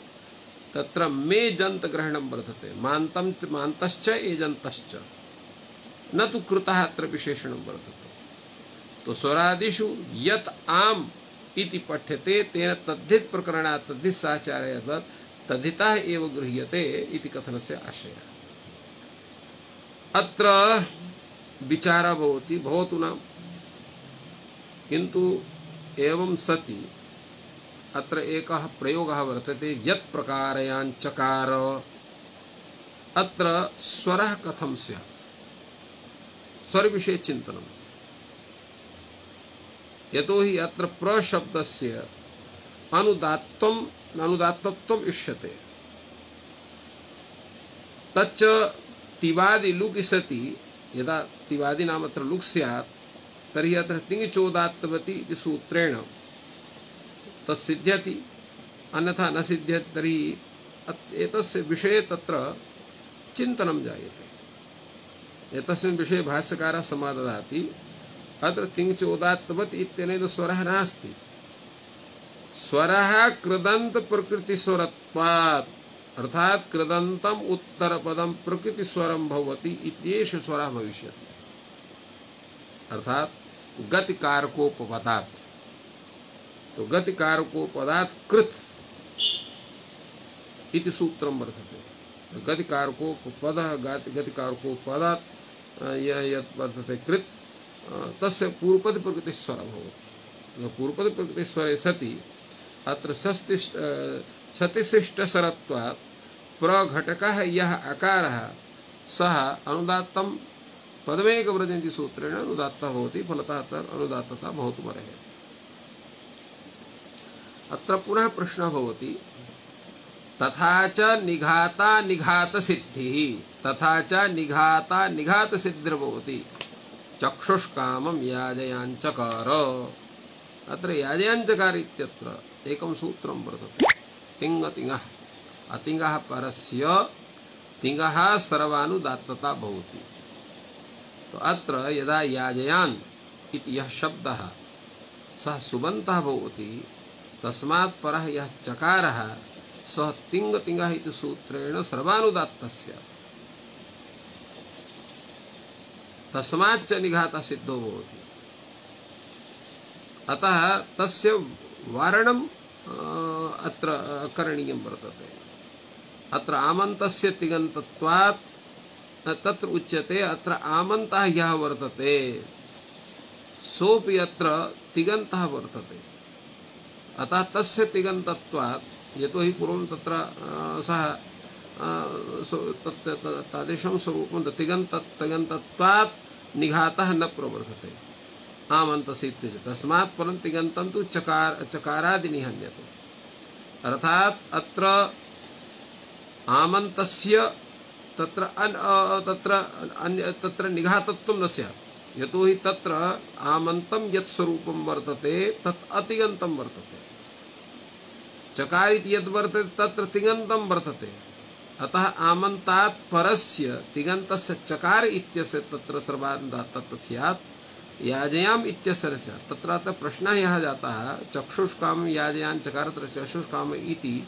तत्र मेजन्त ग्रहणं वर्तते। मान्तं मान्तश्च एजन्तश्च, न तु कृतः अत्र विशेषणं वर्तते। तो स्वरादिषु यत् आम् इति पठ्यते तेन तद्धित प्रकरणात् तद्धित साचार्यात् तद्धितः एव गृह्यते इति कथनस्य आशयः। अत्र विचारः भवति भवतु नाम, किन्तु एवं सति अत्र एकः प्रयोगः वर्तते यत् प्रकारयां चकार। अत्र स्वरः कथं स्यात्? स्वर विषये चिन्तनं। यतोहि अत्र प्रशब्दस्य अनुदात्तत्वम् इष्यते। तच्च तिवादि लुक् सति यदा तिवादि नाम अत्र लुक् स्यात् तर्हि अत्र तिङिचोदात्तवति इति सूत्रेण तत्सिद्ध्यति, अन्यथा न सिद्ध्यति। तर्हि एतस्य विषये तत्र चिन्तनं जायते। एतस्मिन् विषये भाष्यकारः समाददाति अत्र तिङ्चोदात्तवत् इत्यनेन स्वरः नास्ति। स्वरः कृदन्त प्रकृतिस्वरत्वात् अर्थात् कृदन्तम् उत्तरपदं प्रकृतिस्वरं भवति इत्येष स्वरः भविष्यति। अर्थात् गतिकारकोपपदात्। तो गतिकारकोपदात् कृत् इति सूत्रं वर्तते। गतिकारकोपपदः गतिकारकोपदात् यत् वर्तते कृत् तस्य पूर्वपद प्रकृतिस्वरः भवति। पूर्वपद प्रकृतिस्वरे सति अत्र सतिशिष्टस्वरत्वात् प्रघटकः यः अकारः सः अनुदात्तं पदमेकव्रजन्ति सूत्रेण अनुदात्तः भवति। फलतः अत्र अनुदात्तता भवितुमर्हति। अत्र पुनः प्रश्नः भवति तथा च निघाता निघात सिद्धिः तथा च निघाता निघात सिद्धिर्भवति चक्षुष्कामं याजयाञ्चकार। अत्र याजयाञ्चकार इत्यत्र एकं सूत्रं वर्तते तिङ् तिङः अतिङः परस्य तिङः सर्वानुदात्तता भवति। तो अत्र यदा याजयान् इति यः शब्दः सः सुबन्तः भवति तस्मात् परः यः चकारः सः तिङ् तिङः इति सूत्रेण सर्वानुदात्तस्य तस्माच्च निघातः सिद्धो भवति। अतः तस्य वारणं अत्र करणीयं वर्तते। अत्र आमन्तस्य तिङन्तत्वात् तत्र उच्यते अत्र आमन्तः यः वर्तते सोऽपि अत्र तिङन्तः वर्तते। अतः तस्य तिङन्तत्वात् यतोहि पूर्वं तत्र सः तादृशं स्वरूपं तिङन्तत्वात् निघातः न प्रवर्तते आमन्तस्य इत्युच्यते। तस्मात् परं तिङन्तं तु चकारादि निहन्यते। अर्थात् अत्र आमन्तस्य तत्र निघातत्वं न स्यात्। यतोहि तत्र आमन्तं यत् स्वरूपं वर्तते तत् अतिङन्तं वर्तते। चकार इति यद् वर्तते तत्र तिङन्तं वर्तते। अतः आमन्तात् परस्य तिङन्तस्य चकार इत्यस्य तत्र सर्वानुदात्तता स्यात्। याजयाम् इत्यस्य स्यात्। तत्र प्रश्नः यः जातः चक्षुष्कामं याजयान् चकार चक्षुष्काम इति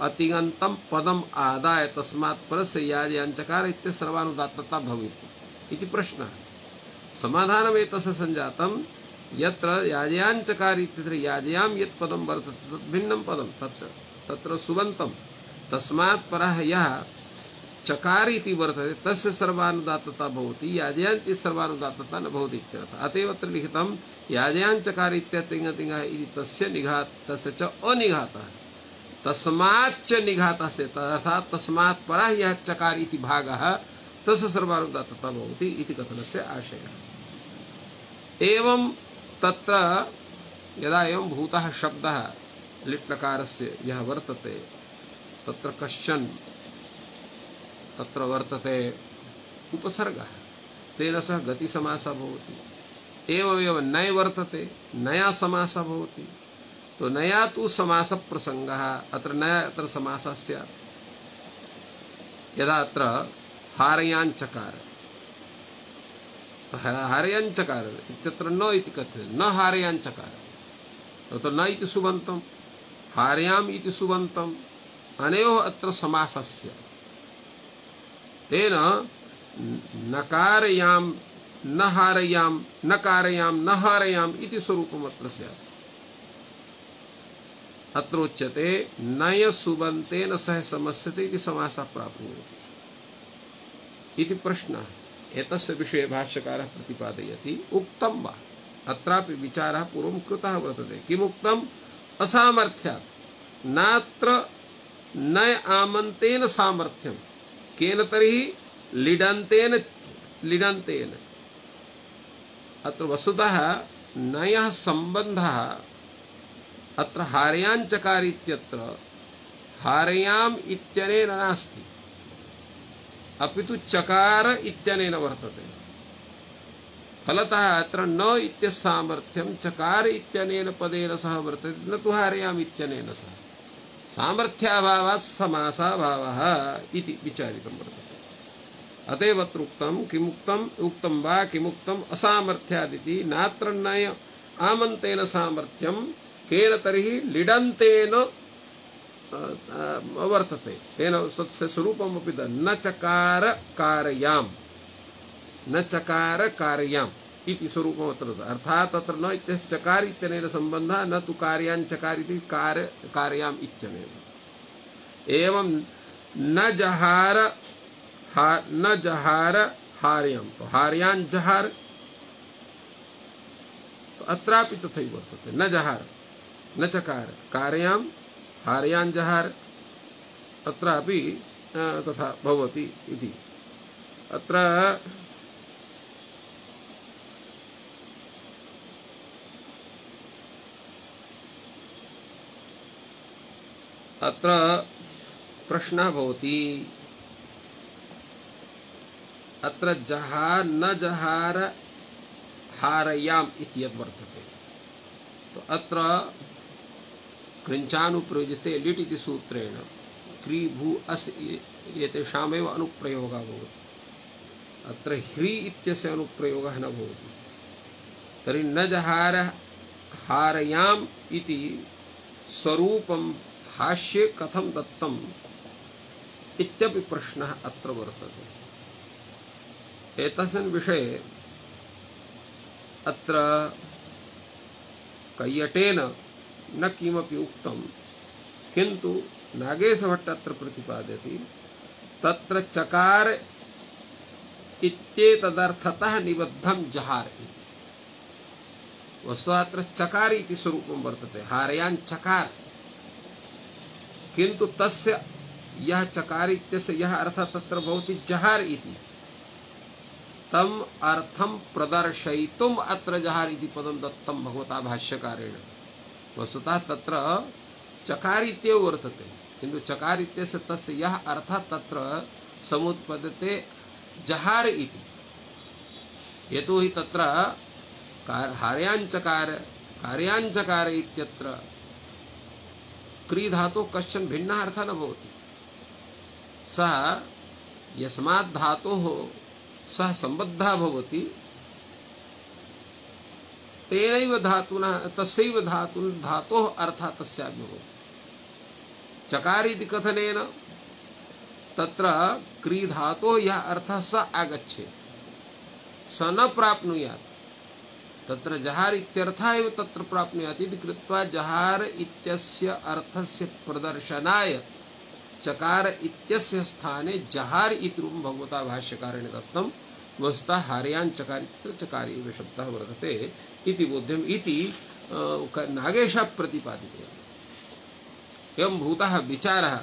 अतिङन्तं पदम् आदाय तस्मात् परस्य याजयान् चकार इत्यस्य सर्वानुदात्तता भवेति इति प्रश्नः। समाधानम् एतस्य सञ्जातं यत्र याजयान् चकार इत्यत्र याजयां यत् पदं वर्तते तत् भिन्नं पदं तत्र सुबन्तं तस्मात् परः यः चकार इति वर्तते तस्य सर्वानुदात्तता भवति। याजयान् इति सर्वानुदात्तता न भवति इत्यर्थः। अतएव अत्र लिखितं याजयान् चकार इत्यतिङ तिङः इति तस्य निघातस्य च अनिघातः तस्माच्च निघातः से अर्थात् तस्मात् परः यः चकार इति भागः तस्य सर्वानुदात्तता भवति इति कथनस्य आशयः। एवं तत्र यदा एवं भूतः शब्दः लिट्लकारस्य यः वर्तते तत्र कश्चन तत्र वर्तते उपसर्गः तेन सह गतिसमासः भवति। एवमेव नय वर्तते नया समासः भवति। तो नया तु समासप्रसङ्गः अत्र नया अत्र समासः स्यात्। यदा अत्र हारयान् चकार हारयान् चकार इत्यत्र न इति कथ्यते न हारयान् चकार तो न इति सुबन्तं हारयाम् इति सुबन्तम् अनयोः अत्र समासः स्यात्। तेन नकारयां न हारयां न कारयां न हारयाम् इति स्वरूपम् अत्र स्यात्। अत्र उच्यते नय सुबन्तेन सह समस्यते इति समासः प्राप्नोति इति प्रश्नः। एतस्य विषये भाष्यकारः प्रतिपादयति उक्तं वा अत्रापि विचारः पूर्वं कृतः वर्तते। किमुक्तम् असामर्थ्यात् नात्र नय आमन्तेन सामर्थ्यं केन तर्हि लिडन्तेन अत्र वस्तुतः नयः सम्बन्धः अत्र हारयान् चकार इत्यत्र हारयाम् इत्यनेन नास्ति अपितु चकार इत्यनेन वर्तते। फलतः अत्र न इत्यस्य सामर्थ्यं चकार इत्यनेन पदेन सह वर्तते न तु हारयाम् इत्यनेन सह। सामर्थ्याभावात् समासाभावः इति विचारितं वर्तते। अतएव अत्र उक्तं किमुक्तम् उक्तं वा किमुक्तम् असामर्थ्यादिति नात्र नय आमन्तेन सामर्थ्यं केन तर्हि लिडन्तेन वर्तते तेन तस्य स्वरूपमपि न चकार कारयाम् न चकार कारयाम् इति स्वरूपम् अत्र अर्थात् तत्र न इत्यस्य चकार इत्यनेन सम्बन्धः न तु कार्यान् चकार इति कारयाम् इत्यनेन एवं न जहार हार्याम् तो हार्यान् जहार तो अत्रापि तथैव वर्तते न जहार न चकार कारयाम् हार्यान् जहार अत्रापि तथा भवति इति अत्र अत्र प्रश्नः भवति अत्र जहार न जहार हारयाम इति यद् वर्तते तो अत्र कृञ्चानुप्रयुज्यते लिट् इति सूत्रेण क्री भू अस् एतेषामेव अनुप्रयोगः भवति अत्र ह्री इत्यस्य अनुप्रयोगः न भवति तर्हि न जहार हारयाम इति स्वरूपं भाष्ये कथं दत्तम् इत्यपि प्रश्नः अत्र वर्तते एतस्मिन् विषये अत्र कैयटेन न किमपि उक्तं किन्तु नागेशभट्ट अत्र प्रतिपादयति तत्र चकार इत्येतदर्थतः निबद्धं जहार इति वस्तुतः अत्र चकार इति स्वरूपं वर्तते हारयान् चकार किन्तु तस्य यः चकार इत्यस्य यः अर्थः तत्र भवति जहार इति तम अर्थं प्रदर्शयितुम् अत्र जहार इति पदं दत्तं भगवता भाष्यकारेण वस्तुतः तत्र चकार इत्येव वर्तते किन्तु चकार इत्यस्य तस्य यः अर्थः तत्र समुत्पद्यते जहार इति यतोहि तत्र हार्याञ्चकार कार्याञ्चकार इत्यत्र क्री धातोः कश्चन भिन्नः अर्थः न भवति सः यस्मात् धातोः सः सम्बद्धः भवति तेनैव धातुना तस्यैव धातोः अर्थः तस्यापि भवति चकार इति कथनेन तत्र क्री धातोः यः अर्थः स आगच्छेत् स न प्राप्नुयात् तत्र जहार इत्यर्थः एव तत्र प्राप्नुयात् इति कृत्वा जहार इत्यस्य अर्थस्य प्रदर्शनाय चकार इत्यस्य स्थाने जहार इति रूपं भगवता भाष्यकारेण दत्तं वस्तुतः हार्यान् चकार इत्यत्र चकार एव शब्दः वर्तते इति बोध्यम् इति नागेशः प्रतिपादितवान् एवं भूतः विचारः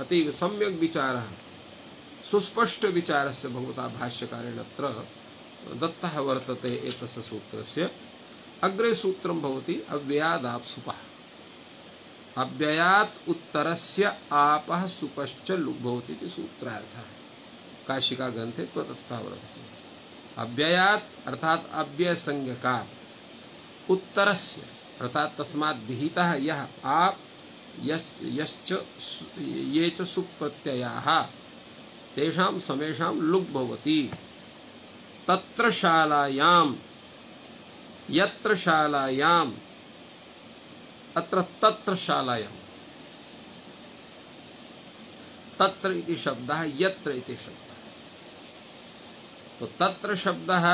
अतीव सम्यक् विचारः सुस्पष्ट विचारस्य भगवता भाष्यकारेण अत्र दत्तः वर्तते एतस्य सूत्रस्य अग्रे सूत्रं भवति अव्ययादाप्सुपः अव्ययात् उत्तरस्य आपः सुपश्च लुग् भवति इति सूत्रार्थः काशिका ग्रन्थे प्रदत्तः वर्तते अव्ययात् अर्थात् अव्ययसंज्ञकात् उत्तरस्य अर्थात् तस्मात् विहितः यः आप यश्च ये च सुप्रत्ययाः तेषां समेषां लुग् भवति तत्र शालायां यत्र शालायां अत्र तत्र शालायां तत्र इति शब्दः यत्र इति शब्दः तो तत्र शब्दः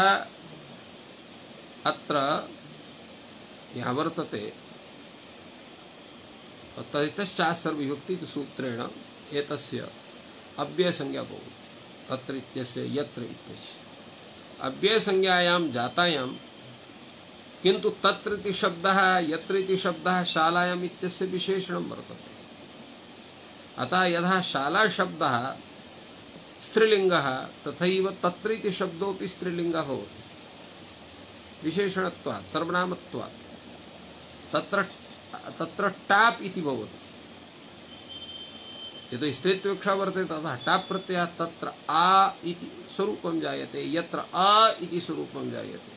अत्र यः वर्तते तदितश्चास्सर्वविभक्ति इति सूत्रेण एतस्य अव्ययसंज्ञा भवति तत्र इत्यस्य यत्र इत्यस्य अव्ययसंज्ञायां जातायां किन्तु तत्र इति शब्दः यत्र इति शब्दः शालायाम् इत्यस्य विशेषणं वर्तते अतः यथा शाला शब्दः स्त्रीलिङ्गः तथैव तत्र इति शब्दोऽपि स्त्रीलिङ्गः भवति विशेषणत्वात् सर्वनामत्वात् तत्र टाप् इति भवति यतो स्त्रीत्वविवक्षा वर्तते ततः टाप् प्रत्ययात् तत्र आ इति स्वरूपं जायते यत्र आ इति स्वरूपं जायते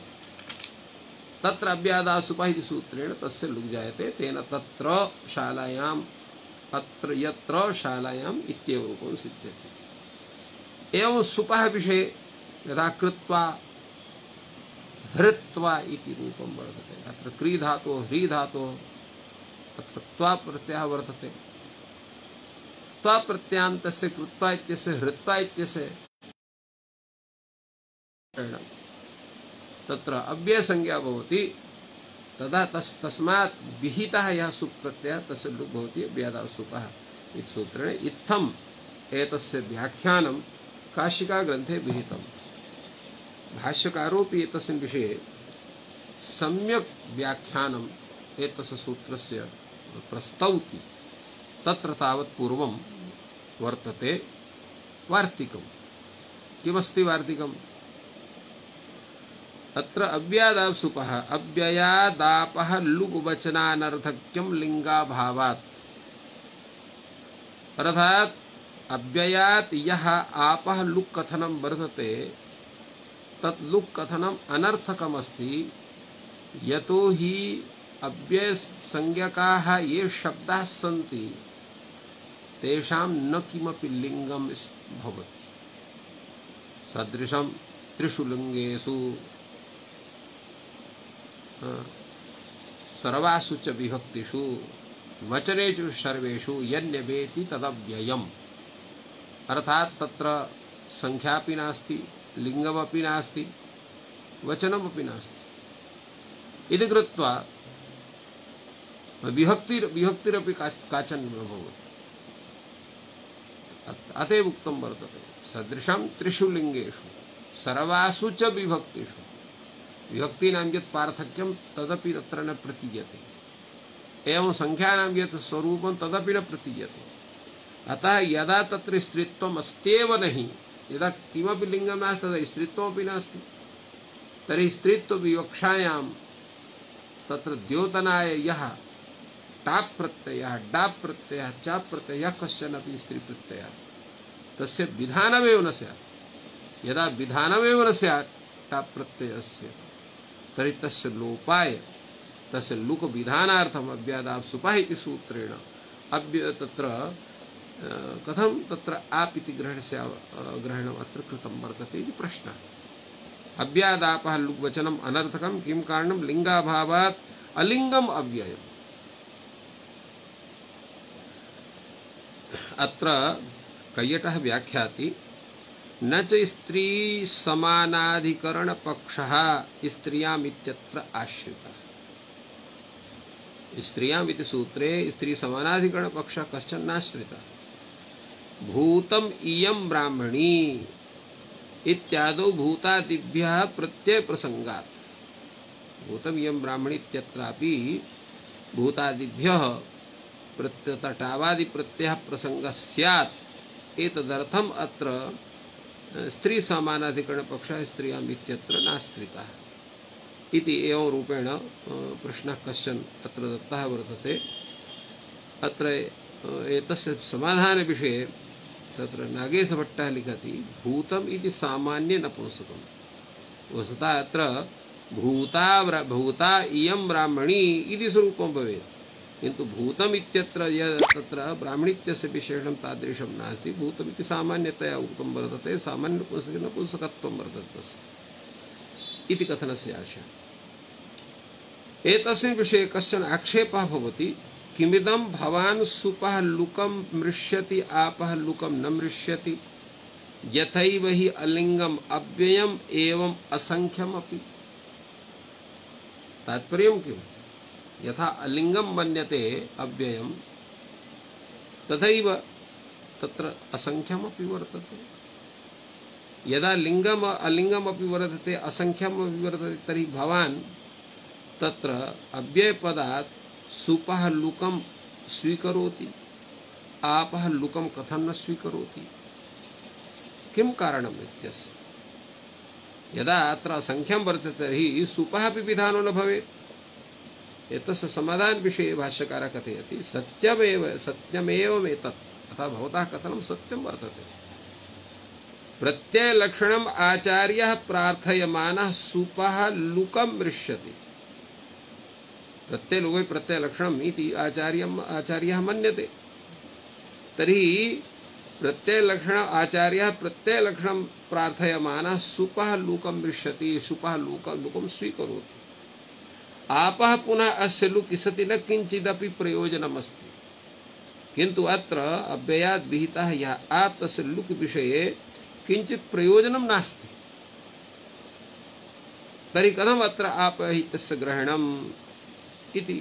तत्र अव्ययादासुपः इति सूत्रेण तस्य लुग् जायते तेन तत्र शालायाम् अत्र यत्र शालायाम् इत्येव रूपं सिद्ध्यति एवं सुपः विषये यदा कृत्वा हृत्वा इति रूपं वर्तते। अत्र क्री धातोः ह्री धातोः तत्र त्वा प्रत्ययः वर्तते। त्वा प्रत्ययान्तस्य कृत्वा इत्यस्य हृत्वा इत्यस्य तत्र अव्ययसंज्ञा भवति। तदा तस्मात् विहितः यः सुप् प्रत्ययः तस्य लुक् भवति अव्ययादाव सुपः इति सूत्रेण इत्थम् एतस्य व्याख्यानं काशिका ग्रन्थे विहितम्। भाष्यकारोऽपि एतस्मिन् विषये सम्यक् व्याख्यानम् एतस्य सूत्रस्य प्रस्तौति। तत्र तावत् पूर्वं वर्तते वार्तिकम्। किमस्ति वार्तिकम्? अत्र अव्ययादाव सुपः अव्ययादापः लुग् वचनानर्थक्यं लिंगाभावात्, अर्थात् अव्ययात् यः आपः लुक् कथनं वर्तते तत् लुक् कथनम् अनर्थकमस्ति। यतो हि अव्ययसंज्ञकाः ये शब्दाः सन्ति तेषां न किमपि लिङ्गं भवति। सदृशं त्रिषु लिङ्गेषु सर्वासु च विभक्तिषु वचनेषु सर्वेषु यन्यवेति तदव्ययम्, अर्थात् तत्र संख्यापि नास्ति, लिङ्गमपि नास्ति, वचनमपि नास्ति इति कृत्वा विभक्तिरपि काचन न भवति। अतएव उक्तं वर्तते सदृशं त्रिषु लिङ्गेषु सर्वासु च विभक्तिषु। विभक्तीनां यत् पार्थक्यं तदपि तत्र न प्रतीयते, एवं संख्यानां यत् स्वरूपं तदपि न प्रतीयते। अतः यदा तत्र स्त्रीत्वम् अस्त्येव नहि, यदा किमपि लिङ्गं नास्ति तदा स्त्रीत्वमपि नास्ति, तर्हि स्त्रीत्वविवक्षायां तत्र द्योतनाय यः टाप् प्रत्ययः डाप् प्रत्ययः चाप् प्रत्ययः कश्चन अपि स्त्रीप्रत्ययः तस्य विधानमेव न स्यात्। यदा विधानमेव न स्यात् टाप् प्रत्ययस्य तर्हि तस्य लोपाय तस्य लुक् विधानार्थम् अव्ययादाव सुपः इति सूत्रेण तत्र कथं तत्र आप इति ग्रहणम् अत्र कृतं वर्तते इति प्रश्नः। अव्ययादापः लुक् वचनम् अनर्थकं किं कारणं? लिङ्गाभावात् अलिङ्गम् अव्ययम्। अत्र कैयटः व्याख्याति न च स्त्री समानाधिकरण पक्षः स्त्रियाम् इत्यत्र आश्रितः। स्त्रियाम् इति सूत्रे स्त्री समानाधिकरण पक्षः कश्चन नाश्रितः। भूतम् इयं ब्राह्मणी इत्यादौ भूतादिभ्यः प्रत्यय प्रसंगात्, भूतम् इयं ब्राह्मणी इत्यत्रापि भूतादिभ्यः प्रत्ययटावादि प्रत्ययः प्रसंगः स्यात्। एतदर्थम् अत्र स्त्री समानाधिकरण पक्षः स्त्रियाम् इत्यत्र नाश्रितः इति एवं रूपेण प्रश्नः कश्चन अत्र दत्तः वर्तते। अत्र एतस्य समाधानविषये तत्र नागेशभट्टः लिखति भूतम् इति सामान्य नपुंसकम्। वस्तुतः अत्र भूता इयं ब्राह्मणी इति स्वरूपं भवेत्, किन्तु भूतम् इत्यत्र तत्र ब्राह्मणीत्यस्य विशेषणं तादृशं नास्ति। भूतम् इति सामान्यतया उक्तं वर्तते, सामान्य नपुंसकत्वं वर्तते तस्य इति कथनस्य आशयः। एतस्मिन् विषये कश्चन आक्षेपः भवति, किमिदं भवान् सुपः लुकं मृष्यति आपः लुकं न मृष्यति, यथैव हि अलिङ्गम् अव्ययम् एवम् असंख्यमपि। तात्पर्यं किम्? यथा अलिङ्गं मन्यते अव्ययं तथैव तत्र असंख्यमपि वर्तते। यदा लिङ्गम् अलिङ्गमपि वर्तते असंख्यमपि वर्तते तर्हि भवान् तत्र अव्ययपदात् सुपः लुकं स्वीकरोति, आपः लुकं कथं न स्वीकरोति? किं कारणम् इत्यस्य? यदा अत्र असंख्यं वर्तते तर्हि सुपः अपि विधानो न भवेत्। एतस्य समाधानविषये भाष्यकारः कथयति सत्यमेवमेतत्, अतः भवतः कथनं सत्यं वर्तते। प्रत्ययलक्षणम् आचार्यः प्रार्थयमानः सुपः लुकं मृष्यति। प्रत्ययलुके प्रत्ययलक्षणम् इति आचार्यः मन्यते। तर्हि प्रत्ययलक्षण आचार्यः प्रत्ययलक्षणं प्रार्थयमानः सुपः लुकं दृश्यति, सुपः लुकं स्वीकरोति। आपः पुनः अस्य लुक् सति न किंचिदपि प्रयोजनमस्ति, किंतु अत्र अव्ययात् विहितः यः आप तस्य लुक् विषये किंचित् प्रयोजनं नास्ति। तर्हि कथम् अत्र आप हि तस्य ग्रहणम् इति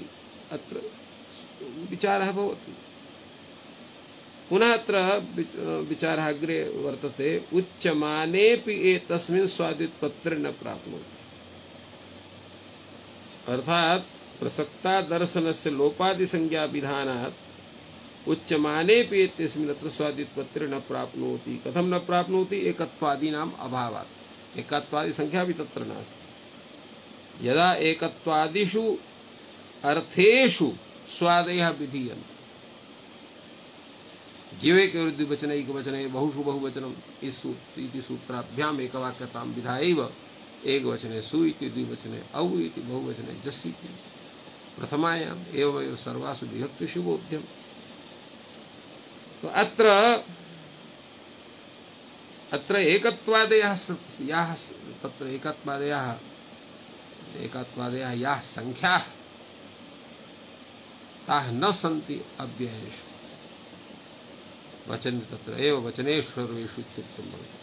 अत्र विचारः भवति। पुनः अत्र विचारः अग्रे वर्तते, उच्यमानेऽपि एतस्मिन् स्वादित्पत्रे न प्राप्नोति। अर्थात प्रसक्ता दर्शनस्य लोपादि संज्ञा विधानात् उच्यमानेऽपि एतस्मिन् अत्र स्वादित्पत्रे न प्राप्नोति। कथं न प्राप्नोति? एकत्वादीनाम् अभावात्। एकत्वादि संख्या भी तत्र नास्ति। यदा एकत्वादिषु अर्थेषु स्वादयः विधीयन्ते, जीवेके द्विवचने एकवचने बहुषु बहुवचनम् इति सूत्राभ्याम् एकवाक्यतां विधायैव एकवचने सु इति द्विवचने औ इति बहुवचने जस् इति प्रथमायाम् एवमेव सर्वासु विभक्तिषु बोध्यम्। तो अत्र एकत्वादयः याः तत्र एकत्वादयः याः संख्याः ताः न सन्ति अव्ययेषु वचन, तत्र एव वचनेषु सर्वेषु इत्युक्तं भवति।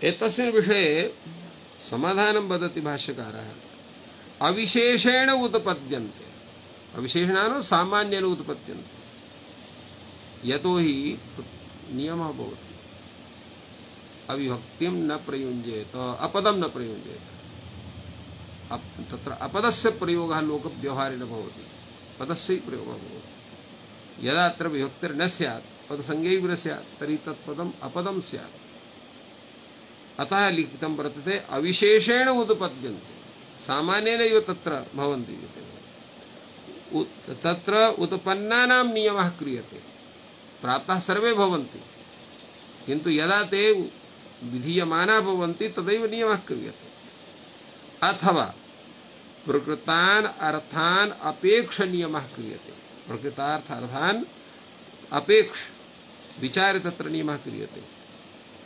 एतस्मिन् विषये समाधानं वदति भाष्यकारः, अविशेषेण उत्पद्यन्ते। अविशेषणान् सामान्येन उत्पद्यन्ते। यतो हि नियमः भवति, अविभक्तिं न प्रयुञ्जेत, अपदं न प्रयुञ्जेत। तत्र अपदस्य प्रयोगः लोकव्यवहारेण भवति, पदस्य प्रयोगः भवति। यदा अत्र विभक्तिर्न स्यात्, पदसंज्ञैव न स्यात्, तर्हि तत्पदम् अपदं स्यात्। अतः लिखितं वर्तते अविशेषेण उत्पद्यन्ते, सामान्येनैव तत्र भवन्ति। तत्र उत्पन्नानां नियमः क्रियते, प्राप्ताः सर्वे भवन्ति, किन्तु यदा ते विधीयमानाः भवन्ति तदैव नियमः क्रियते। अथवा प्रकृतान् अर्थान् अपेक्ष नियमः क्रियते। प्रकृतार्थ अर्थान् अपेक्ष विचारे तत्र नियमः क्रियते।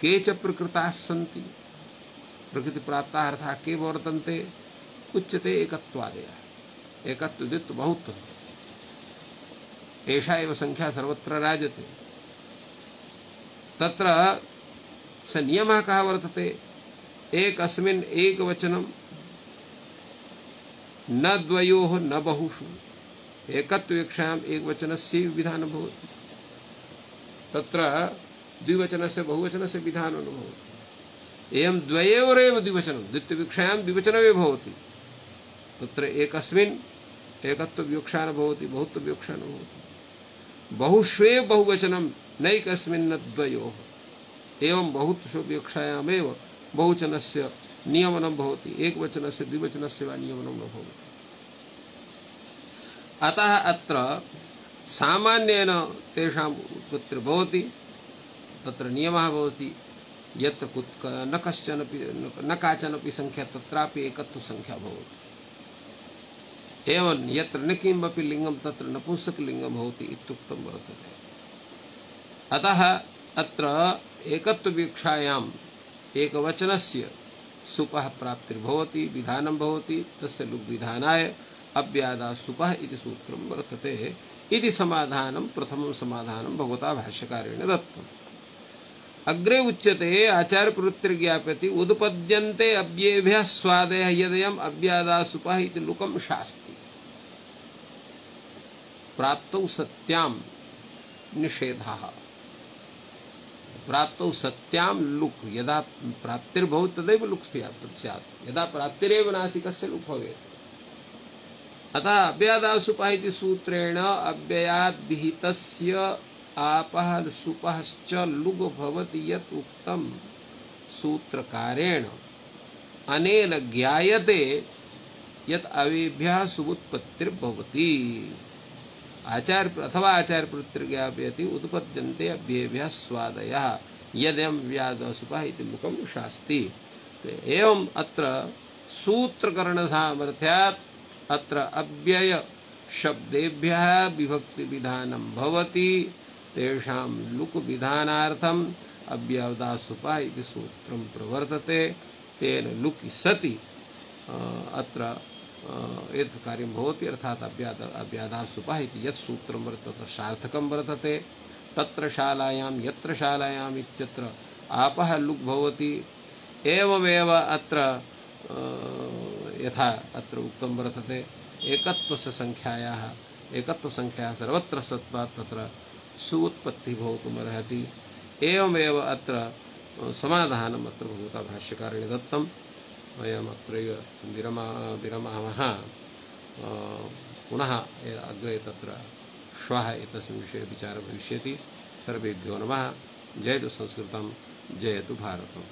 के च प्रकृताः सन्ति, प्रकृति प्राप्ताः अर्थाः के वर्तन्ते? उच्यते एकत्वादयः। एकत्व द्वित्व बहुत्व, एषा एव संख्या सर्वत्र राजते। तत्र स नियमः कः वर्तते? एकस्मिन् एकवचनं, न द्वयोः न बहुषु। एकत्वविवक्षायाम् एकवचनस्य विधानं भवति, तत्र द्विवचनस्य बहुवचनस्य विधानं न भवति। एवं द्वयोरेव द्विवचनं, द्वित्वविवक्षायां द्विवचनमेव भवति, तत्र एकस्मिन् एकत्वविवक्षा न भवति, बहुत्वविवक्षा न भवति। बहुष्वेव बहुवचनं, नैकस्मिन् न द्वयोः। एवं बहुत्वु विवक्षायामेव बहुवचनस्य नियमनं भवति, एकवचनस्य द्विवचनस्य वा नियमनं न भवति। अतः अत्र सामान्येन तेषाम् उत्पत्तिर्भवति, तत्र नियमः भवति, यत्र न कश्चनपि न काचनपि संख्या तत्रापि एकत्व संख्या भवति। एवं यत्र न किमपि लिंगं तत्र नपुंसकलिंगं भवति इत्युक्तं वर्तते। अतः अत्र एकत्वविवक्षायाम् एकवचनस्य सुपः प्राप्तिर्भवति, विधानं भवति, तस्य लुग् विधानाय अव्यादा सुपः इति सूत्रं वर्तते। इति समाधानं प्रथमं समाधानं भगवता भाष्यकारेण दत्तम्। अग्रे उच्यते आचार्यप्रवृत्तिर्ज्ञाप्यते उदपद्यन्ते अव्ययेभ्यः स्वादयः यदयम् अव्यादा सुपः इति लुकं शास्ति। प्राप्तौ सत्यां निषेधः। प्राप्तौ सत्यां लुक् यदा प्राप्तिर्भवति तदैव लुक् स्यात्, यदा प्राप्तिरेव नास्ति कस्य लुक् भवेत्? अतः अव्यादा सुपः इति सूत्रेण अव्ययात् विहितस्य आपः सुपश्च लुग् भवति यत् उक्तं सूत्रकारेण अनेन ज्ञायते यत् अवेभ्यः सुबुत्पत्तिर्भवति। अथवा आचार्यप्रवृत्तिर्ज्ञापयति उत्पद्यन्ते अव्ययेभ्यः स्वादयः यदयम् अव्यादा सुपः इति लुकं शास्ति। एवम् अत्र सूत्रकरणसामर्थ्यात् अत्र अव्यय शब्देभ्यः विभक्ति विधानं भवति। तेषां लुक् विधानार्थम् अव्यवदासुपः इति सूत्रं प्रवर्तते। तेन लुकि सति अत्र एतत् कार्यं भवति, अर्थात् अव्यादासुपः इति यत् सूत्रं वर्तते तत् सार्थकं वर्तते। तत्र शालायां यत्र शालायाम् इत्यत्र आपः लुक् भवति। एवमेव अत्र यथा अत्र उक्तं वर्तते एकत्वस्य संख्यायाः सर्वत्र सत्त्वात् तत्र सुउत्पत्तिः भवितुमर्हति। एवमेव अत्र समाधानम् अत्र भगवता भाष्यकारेण दत्तं। वयमत्रैव विरमामः। पुनः अग्रे तत्र श्वः एतस्मिन् विषये विचारः भविष्यति। सर्वेभ्यो नमः। जयतु संस्कृतं, जयतु भारतम्।